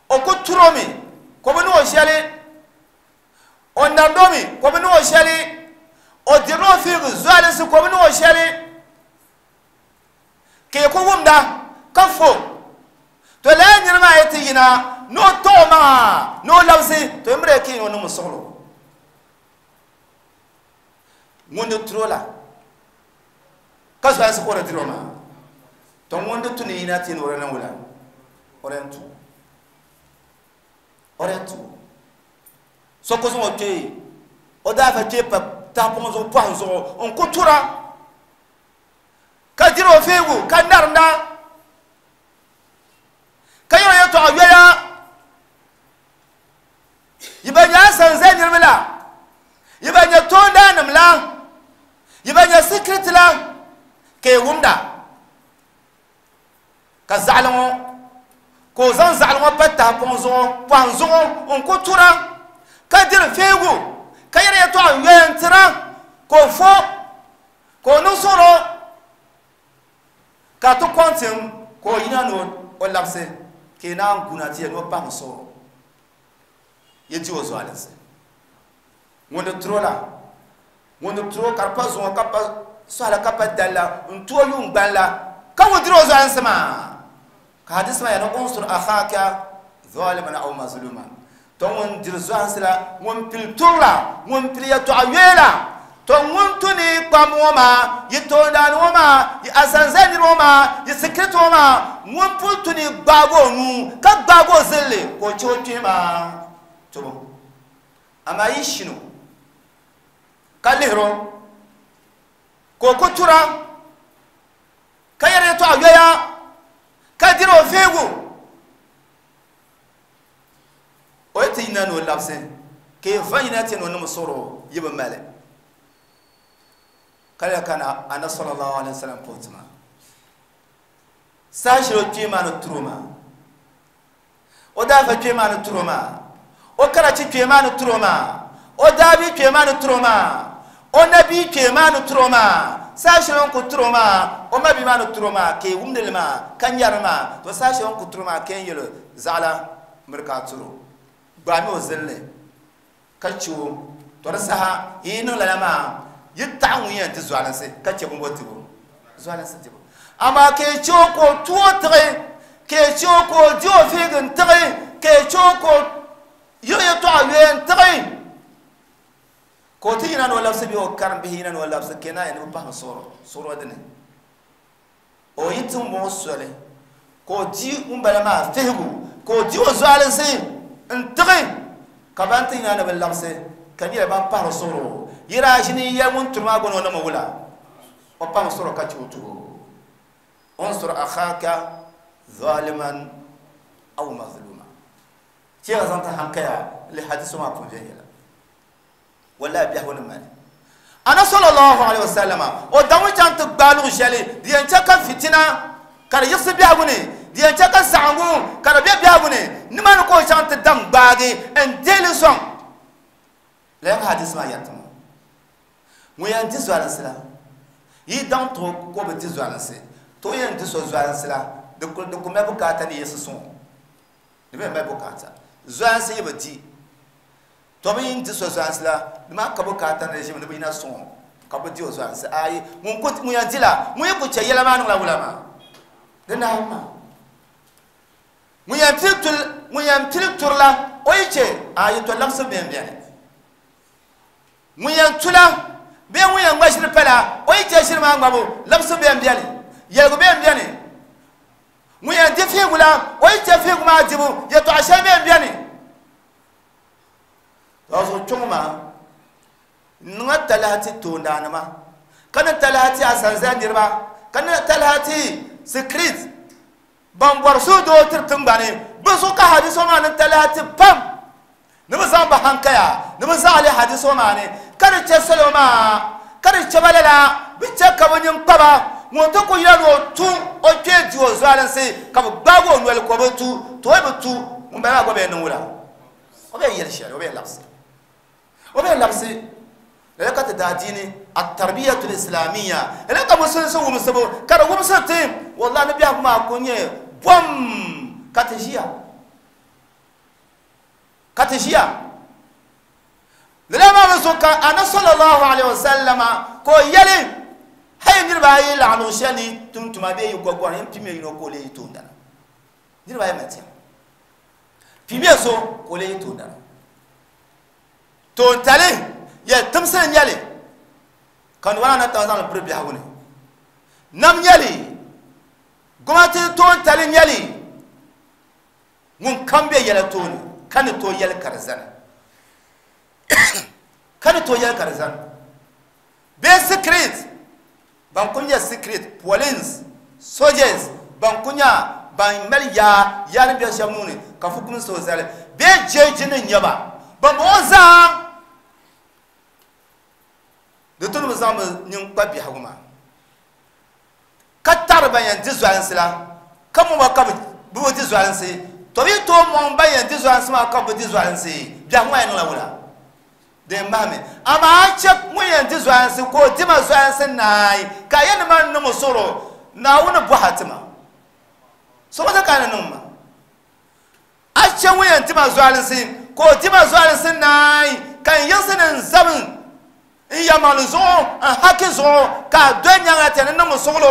o ko turomi ko bo no shele o nandomi ko bi no sheli o dirno fiigu zualinsi ko bi no sheli ke ko wumda ka fo to la nirma ayati yina no to ma no lawsi to imre ke no no soglo ngondo trola ka zualinsi ko dirno ma to ngondo tuni yina tin wora nan wala orentu orentu so ko zo te o da fa te pa ta pon zo pon zo on ko tura ka diro fegu ka narnda ka yo to ayoya yibanya sanze nirmila yibanya tonda namla yibanya secret la ke wumda ka zalmo ko zan zalmo pa ta pon zo pon zo on ko tura ka dir fegu ka yɛrɛ to a yɛn tira ko fo ko no soro ka to kwantin ko yina no o labse ke na guna ti no pa so ye ti o zo alse ngondo trola ngondo tro ka pa zo ka pa so ala ka pa dalla nto yu ngbala ka wo diro zo alse ma ka hadis ma ya no unsur akhaka zaliman aw mazluman to ŋun diri zuɣusi la ŋun pili turi la ŋun pili yɛltɔɣa yoya la to ŋun tu ni kpam ŋɔ maa yi toondaani ŋɔ maa yi asanza niri ŋɔ maa yi sikiriti ŋɔ maa ŋun puli tu ni gbaagi o nuu ka gbaagi o zilli ka o chɛ o kpee maa tubu amaa yi shino ka lihiri o ka o ku tura ka yɛri yɛltɔɣa yoya ka diri o feegu o yi ti yina ni o labisi ka yi va yina ti ni o nim soro yi bi mali ka lɛ kana ana sallallahu alaihi wasallam puti ma saha shɛli o kpee maa ni turo maa o daafa kpee maa ni turo maa o karachi kpee maa ni turo maa o daabi kpee maa ni turo maa o nabii kpee maa ni turo maa saha shɛli o ni ku turo maa o mabi maa ni turo maa ka yi wumdili maa ka nyɛri maa to saha shɛli o ni ku turo maa ka yi yɛli zaɣala miri ka a turo gbaami o zilli ka chɛ o to di saha yi niŋ lala maa yi taɣa ŋun yɛn ti zualinsi ka chɛ binbo tibu zualinsi tibu amaa ka yi chɛ o ka o tu o tiɣi ka yi chɛ o ka o di o fiigi n tiɣi ka yi chɛ o ka o yiɣi yɛltɔɣa yoya n tiɣi ka o ti yina ni o labisi bee o karim bihi yina ni o labisi ka naa yɛn ni bi pahimi suɣuro suɣuro dini o yi ti ŋɔ soli ka o di ŋunbala maa fihigu ka o di o zualinsi n tiɣi ka ban ti yina ni bi labisi ka nyɛla ban pahiri suɣuro yira ʒini yɛ ŋun turi maa gbuni o nima wula o pahimi suɣuro ka chɛ o tuho unsur akhaka zaliman aw mazluma chɛ ka zaŋ ti hankaya li hadisi maa pun viɛnyɛla wallahi biɛhigu ni mali ana sallallahu alaihi wasallam o daŋ chaŋ ti gbaai luɣu shɛli di yɛn chɛ ka fitina ka di yiɣisi biɛhigu ni di yɛn chɛ ka saɣangu ka di bɛ biɛhigu ni nimaani ka o chaŋ ti dam gbaagi n deeli sɔŋ la yɛn hadisi maa yɛri ti ma ŋun yɛn di zualinsi la yi daŋ to ka o bi di zualinsi to yɛn di so zualinsi la di ku mali bukaata ni yiɣisi sɔŋ di mi mali bukaata zualinsi yi bi di to bi yin di so zualinsi la di maa ka bukaata ni ʒimi ni bi yina sɔŋ ka bi di o zualinsi ayi ŋun ku ŋun yɛn di la ŋun yi ku chɛ yɛla maa niŋla wula maa di nahi maa Ŋun yɛn pili turila o yi chɛ a yɛtɔ labisi bɛn bɛni ŋun yɛn tula bee ŋun yɛn ŋma ʒiri pala o yi chɛ ʒiri maa ŋmabu labisi bɛn bɛni yɛligu bɛn bɛni ŋun yɛn di fiigu la o yi chɛ fiigu maa dibu yɛtɔɣa shɛli bɛn bɛni to zuɣu kpɛŋɔ maa niŋa talahi ti toondaanima ka ni talahi ti asanza niriba ka ni talahi ti sikrit ban bɔri suhudoo tiri tiŋgbani bi zuɣu ka hadiso maa ni talahi ti pam ni bi zaŋ bi hankaya ni bi zaɣali hadiso maa ni ka di chɛ salo maa ka di chɛ ba lala bi chɛ ka bi nyin kpaba ŋun ti ku yɛli ni o tu o kpee di o zualinsi ka bi gbaagi o noli ka o bi tu to o bi tu ŋun bala maa gba bɛ niŋ wula o bɛ yɛli shɛli o bɛ labisi o bɛ labisi lala ka ti daa diini at-tarbiyatul islamiyya lala ka musulinsi wumsibu ka di wumsi ti wallahi ni biɛhigu maa ku nyɛ bom ka ti ʒiya ka ti ʒiya lala maa mi so ka ana sallallahu alaihi wasallama ka o yɛli hayi niriba ayi laɣim luɣu shɛli ni tum tuma bee yi gɔgɔri n pimi yino ka o lee yi toondana niriba ayi mali tiɛm pimiya so ka o lee yi toondana toontali yɛli timsili nyɛli ka nuwana na taŋ zaŋli biri biɛhigu ni nam nyɛli gomnati toontali nyɛli ŋun kam be yɛla tooni ka ni tooi yɛli ka di zani ka ni tooi yɛli ka di zani bee secret ban ku nyɛ secret police soldiers ban ku nyɛ ban mali yaa yaa ni bɛ shɛba nuuni ka fukumsi o zali bee jeeji ni nyɛba ban bɔŋɔ zaa di tu ni bi zaŋ bi nini kpa biɛhigu maa ka taɣari ban yɛn di zualinsi la ka mɔba ka bi bi di zualinsi to bi tooi mɔŋ ban yɛn di zualinsi maa ka bi di zualinsi biɛhigu maa yɛn niŋla wula din mahami amaa a chɛ ŋun yɛn di zualinsi ka o dima zualinsi naai ka a yɛn ni ma niŋ o suɣuro Naawuni bɔha tima suɣuti ka ni niŋ ma a chɛ ŋun yɛn dima zualinsi ka o dima zualinsi naai ka n yiɣisi ni n zabi n yɛmaŋli zuɣu n haki zuɣu ka a doli nyaŋa ti ni niŋ o suɣulo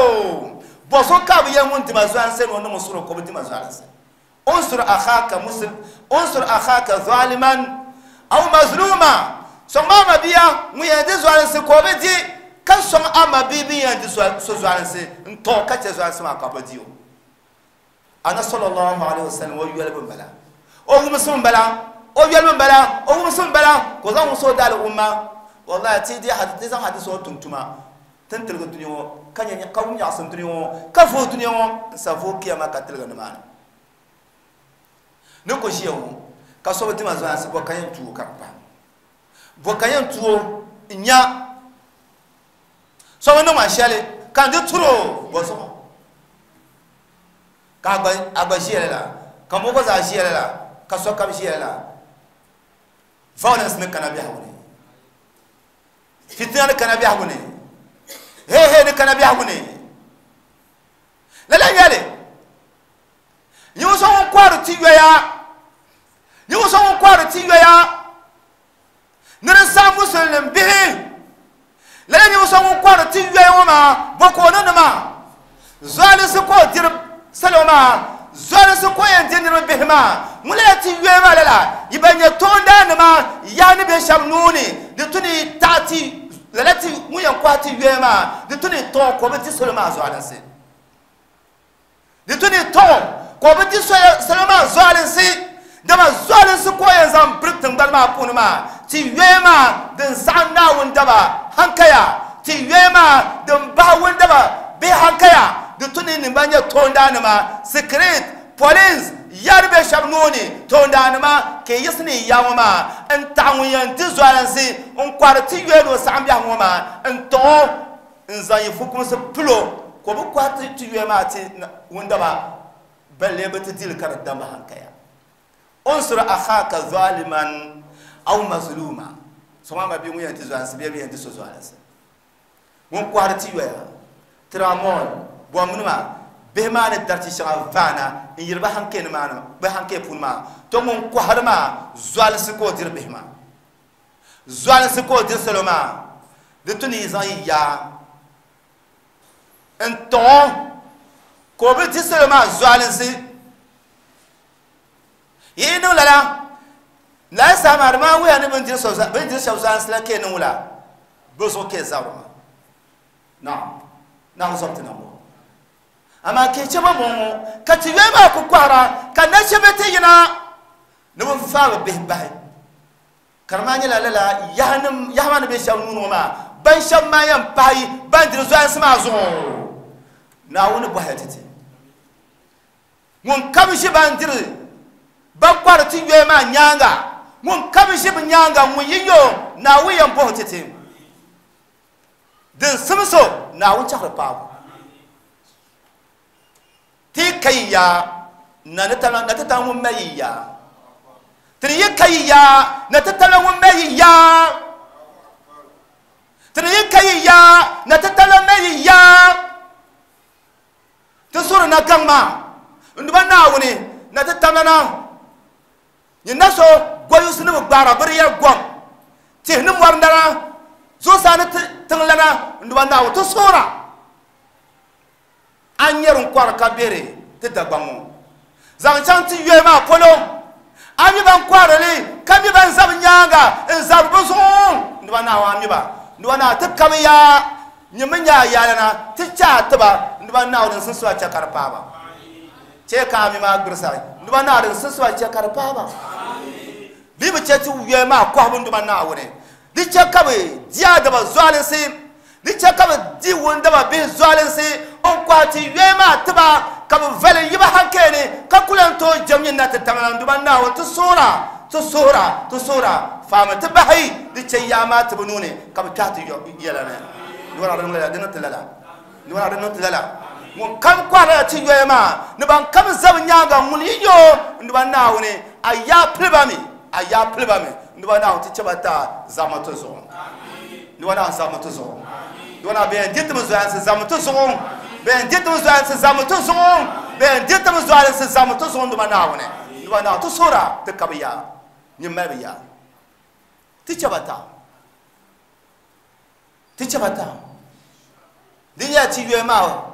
bɔ so ka bi yɛn ŋun dima zualinsi ni o niŋ o suɣulo ka o bi dima zualinsi unsur akhaka muslim unsur akhaka zaliman aw mazluma sɔŋ maa ma bia ŋun yɛn di zualinsi ka o bi di ka sɔŋ a ma bia bin yɛn di so zualinsi n tɔ ka chɛ zualinsi maa ka bi di o ana sallallahu alaihi wasallam o yɔli bin bala o wumsi bin bala o yɔli bin bala o wumsi bin bala ka o zaŋ wumsi o daali umma wallahi ti di ti zaŋ hadisi o tum tuma tin tiligi dunia ŋɔ ka nyɛ ka wum nyaɣasim dunia ŋɔ ka vooi dunia ŋɔ n sa vooi kiyama ka tiligi nimaani ni ku ʒiya ŋɔ ka so bi dima zualinsi bɔ ka yɛn tuo ka di pahi bɔ ka yɛn tuo n nya so bi niŋ ma shɛli ka n di turo bɔ zuɣu ka a gba ʒiya lala ka mo gba zaa ʒiya lala ka sokam ʒiya lala violence ni kana biɛhigu ni fitina ni kana biɛhigu ni hehe ni kana biɛhigu ni lala nyɛli ninvuɣu so ŋun kɔhiri ti yoya ninvuɣu so ŋun kɔhiri ti yoya ni di saɣim musulinim bihi lala ninvuɣu so ŋun kɔhiri ti yoya ŋɔ maa bɔ ka o ni nima zualinsi ka o diri salo maa zualinsi ka o yɛn di niriba bihi maa ŋun lala ti yoya maa lala yi ban nyɛ toondaanima yaa ni be shɛba nuu ni di tu ni taɣi ti lala ti ŋun yɛn kɔhi ti yoya maa di tu ni tɔɣi ka o bi di salo maa zualinsi di tu ni tɔɣi ka o bi di salo maa zualinsi dama zualinsi ka o yɛn zaŋ biri tiŋgbani maa puuni maa ti yoya maa din saɣim Naawuni daba hankaya ti yoya maa din bahi wuni daba bee hankaya di tu ni nim ban nyɛ toondaanima secret police yari be shɛba nuu ni toondaanima ka yi yiɣisi ni ya ŋɔ maa n taɣi ŋun yɛn di zualinsi n kɔhiri ti yoya ni o saɣim biɛhigu ŋɔ maa n tɔɣo n zaŋ yi fukumsi pilo ka o bi kɔhi ti yoya maa ti wuni daba balle bi ti dili ka di damba hankaya unsur akhaka zaliman aw mazluma sɔŋ ama bi ŋun yɛn ti zualinsi bee bi yɛn ti so zualinsi ŋun kɔhiri ti yoya tramol bɔmnima bihi maa ni dariti shɛŋa vaana n yiri bi hankee ni maa bi hankee puuni maa to ŋun kɔhiri maa zualinsi ka o diri bihi maa zualinsi ka o diri salo maa di tu ni yi zaŋ yi yaa n tɔɣo ka o bi di salo maa zualinsi Yi niŋ lala lala saha maa di maa wuhiya ni bini diri shɛba zualinsi la ka yi niŋ wula bɛ zuɣu ka yi zabiri maa naam naawuni zɔbu ti na m-bɔŋɔ amaa ka yi chɛ ba bɔŋɔ ka ti yoya maa ku kɔhira ka nachimba ti yina ni bɛ faai bɛ bihi bahi ka di maa nyɛla lala yaha maa ni be shɛba nuu ni ŋɔ maa ban shɛba maa yɛn pahi ban diri zualinsi maa zuɣu naawuni bɔhaya ti ti ŋun kam ʒi ban diri ban kɔhiri ti yoya maa nyaaŋa ŋun kam ʒi bɛ nyaaŋa ŋun yi yo naawuni yɛn bɔhi ti ti din simso naawuni chaɣiri paabu ti ka yi yaa na ti tala ŋun mali yi yaa tini yi ka yi yaa na ti tala ŋun mali yi yaa tini yi ka yi yaa na ti tala mali yi yaa ti suri na gaŋ maa n duba naawuni na ti tamla na nyin na so goyusi ni bi gbaara bi di yɛri gom tihi ni mɔri lana zuɣusaa ni tiŋ lana n duba naawuni ti suhura a nyɛri n kɔri ka beri ti Dagbaŋ ŋɔ zaŋ chaŋ ti yoya maa polo a mi ban kɔhiri li ka mi ban zabi nyaaŋa n zabiri bi zuɣu n duba naawuni a mi ba n duba naawuni ti kabi yaa nyɛ mi nyɛ a yaalana ti chɛ a tiba n duba naawuni din sinsiba chɛ ka di paai ba chɛ ka a mi maa gbirisa n duba naawuni din sinsiba chɛ ka di paai ba bɛ bi chɛ ti yoya maa kɔhibu n duba naawuni di chɛ ka bɛ di a daba zualinsi di chɛ ka bɛ di wundaba bihi zualinsi n kɔhi ti yoya maa tiba ka bɛ vali yiba hankali ka ku lan tooi jɛm nyin na ti tamla n duba naawuni ti suhura ti suhura ti suhura faami ti bahi di chɛ yaa maa tibi nuuni ka bɛ kpɛhi ti yɛla ni di niŋ lala di niŋ ti lala di niŋ ti lala ŋun kam kɔhirila ti yoya maa ni ban kam za bɛ nyaaŋa ŋun yi yo n duba naawuni a yaa piliba mi a yaa piliba mi n duba naawuni ti chɛ ba taa zaɣima ti zuɣu n duba naawuni zaɣima ti zuɣu n duba naawuni bɛ yɛn di timi zualinsi zaɣima ti zuɣu bɛ yɛn di timi zualinsi zaɣima ti zuɣu bɛ yɛn di timi zualinsi zaɣima ti zuɣu n duba naawuni n duba naawuni ti suhura ti ka bi yaa nyin mali bi yaa ti chɛ ba taa ti chɛ ba taa din nyɛla ti yoya maa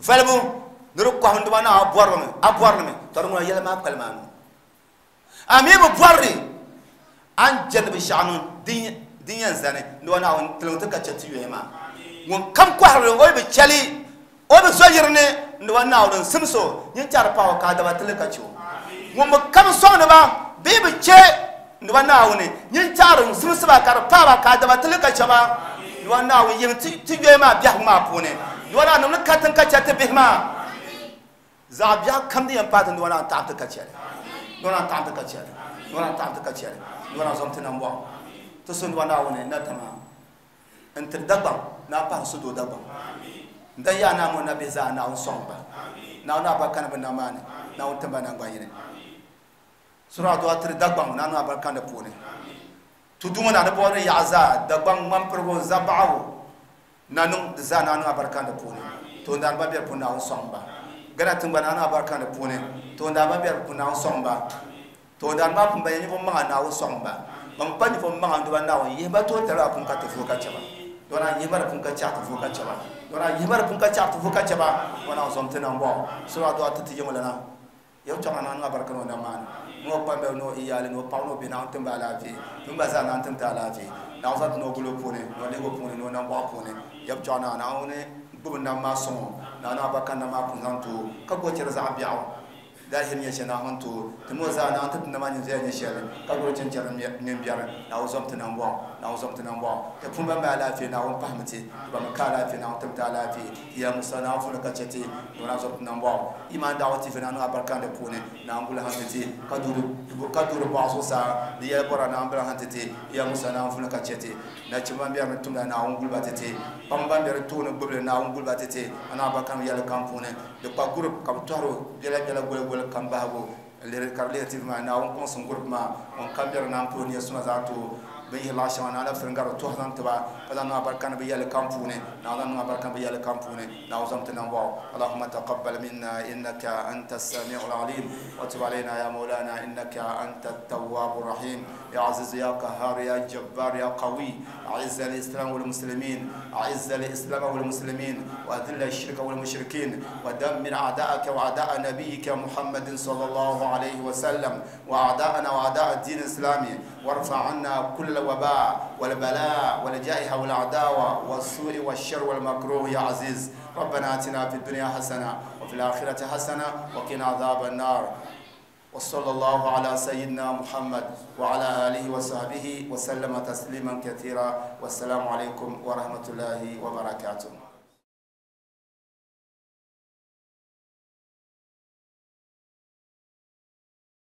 valibu ni di kɔhi n duba naawuni a bɔrimi to di ŋuna yɛla maa kpalim a nuu a mi bi bɔrili a ni jɛndi binshɛɣu niŋ din yɛn zani n duba naawuni tiligi ti ka chɛ ti yoya maa ŋun kam kɔhirili o yi bi chɛli o bi zo yiri ni n duba naawuni n simso nyin chɛri paɣa o ka a daba tili ka chɛ o ŋun bi kam sɔŋdi ba bee bi chɛ n duba naawuni nyin chɛri n simsi ba ka di paai ba ka a daba tili ka chɛ ba n duba naawuni yim ti yoya maa biɛhigu maa puuni n duba naawuni niŋ ni katiŋ ka chɛ ti bihi maa zaɣ biɛɣu kam din yɛn paai ti n duba naawuni taɣam ti ka chɛli n duba naawuni taɣam ti ka chɛli n duba naawuni taɣam ti ka chɛli n duba naawuni zɔm ti nambɔɣu ti so n duba naawuni na tama n tiri Dagbaŋ na pahiri sudoo Dagbaŋ n dan yaa naa ŋɔ na bihi zaa naawuni sɔŋ ba naawuni abarika ni bɛ nam maa ni naawuni tim ba nangbani yini sura adua tiri Dagbaŋ naa niŋ abarika ni puuni tudu ŋɔ na di bɔri yaɣa zaa Dagbaŋ ŋmanpirigu zabaɣu na niŋ di zaa naa niŋ abarika ni puuni toondaan ba bɛri puuni naawuni sɔŋ ba Gana tiŋgbani naa niŋ abarika ni puuni toondaan ba bɛri puuni naawuni sɔŋ ba toondaan maa pun ba nyɛ ninvuɣ maŋa naawuni sɔŋ ba ban pa ninvuɣ maŋa n duba naawuni yihi ba toon tali maa pun ka ti vuhi ka chɛ ba dɔna yihi ba di pun ka chɛɣu ti vuhi ka chɛ ba dɔna yihi ba di pun ka chɛɣu ti vuhi ka chɛ ba dɔna zɔm ti nambɔɣu sura adua ti ti yiŋ lana yɛm chɔŋ naa niŋ abarika ni o nam maa ni ni o kpambiɛli ni o iyaali ni o paɣa ni o bihi naawuni tim ba alaafee ti gba zaa naawuni tim ti alaafee naawuni zaŋ ti ni o gulo puuni ni o lihigu puuni ni o nambɔɣu puuni yɛm chɔŋ naa naawuni gbubi nam maa sɔŋ o naawuni abarika nam maa pun zaŋ ti o ka gbubi chɛri zaɣ biɛɣu dalahiri nyɛ shɛli naawuni ti o ti mi o zaa naawuni ti ti nama nyin viɛla nyɛ shɛli ka gbubi chinchɛri mini biɛri naawuni zɔm ti nambɔɣu naawuni zɔm ti nambɔɣu ti pun ban mali alaafee naawuni pahimi ti ti ban mi ka alaafee naawuni tim ti alaafee ti ya Musa naawuni puuni ka chɛ ti naawuni zɔm ti nambɔɣu iman daawa ti naawuni abarika di puuni naawuni guli han ti ti ka duuri bɔɣu zuɣusaa di yɛli bɔra naawuni bila han ti ti ya Musa naawuni puuni ka chɛ ti nachimba ban bɛri ni tumda naawuni guliba ti ti paɣaba ban bɛri tooni gbubili naawuni guliba ti ti ana abarika ni yɛli kam puuni di kpa gurup ka bi tɔhiri biɛla biɛla goli goli kam bahigu ka di lihiri T V maa naawuni kɔŋsim gurup maa ŋun kam bɛri naan puhi nia suma zaŋ ti o Bin yihi laɣ shɛŋa na alabisiri n-gari tɔhi zaŋ ti ba ka zaŋ niŋ abarika ni bɛ yɛli kam puuni na zaŋ niŋ abarika ni bɛ yɛli kam puuni na zaŋ ti nambɔɣu اللهم تقبل منا إنك أنت السميع العليم وتب علينا يا مولانا إنك أنت التواب الرحيم يا عزيز يا قهار يا جبار يا قوي أعز الإسلام والمسلمين أعز الإسلام والمسلمين وأذل الشرك والمشركين ودمر أعداءك وأعداء نبيك محمد صلى الله عليه وسلم وأعداءنا وأعداء الدين الإسلامي وارفع عنا كل وباء والبلاء والجائحة والعداوة والسوء والشر والمكروه يا عزيز ربنا آتنا في الدنيا حسنة وفي الآخرة حسنة وقنا عذاب النار وصلى الله على سيدنا محمد وعلى آله وصحبه وسلم تسليما كثيرا والسلام عليكم ورحمة الله وبركاته.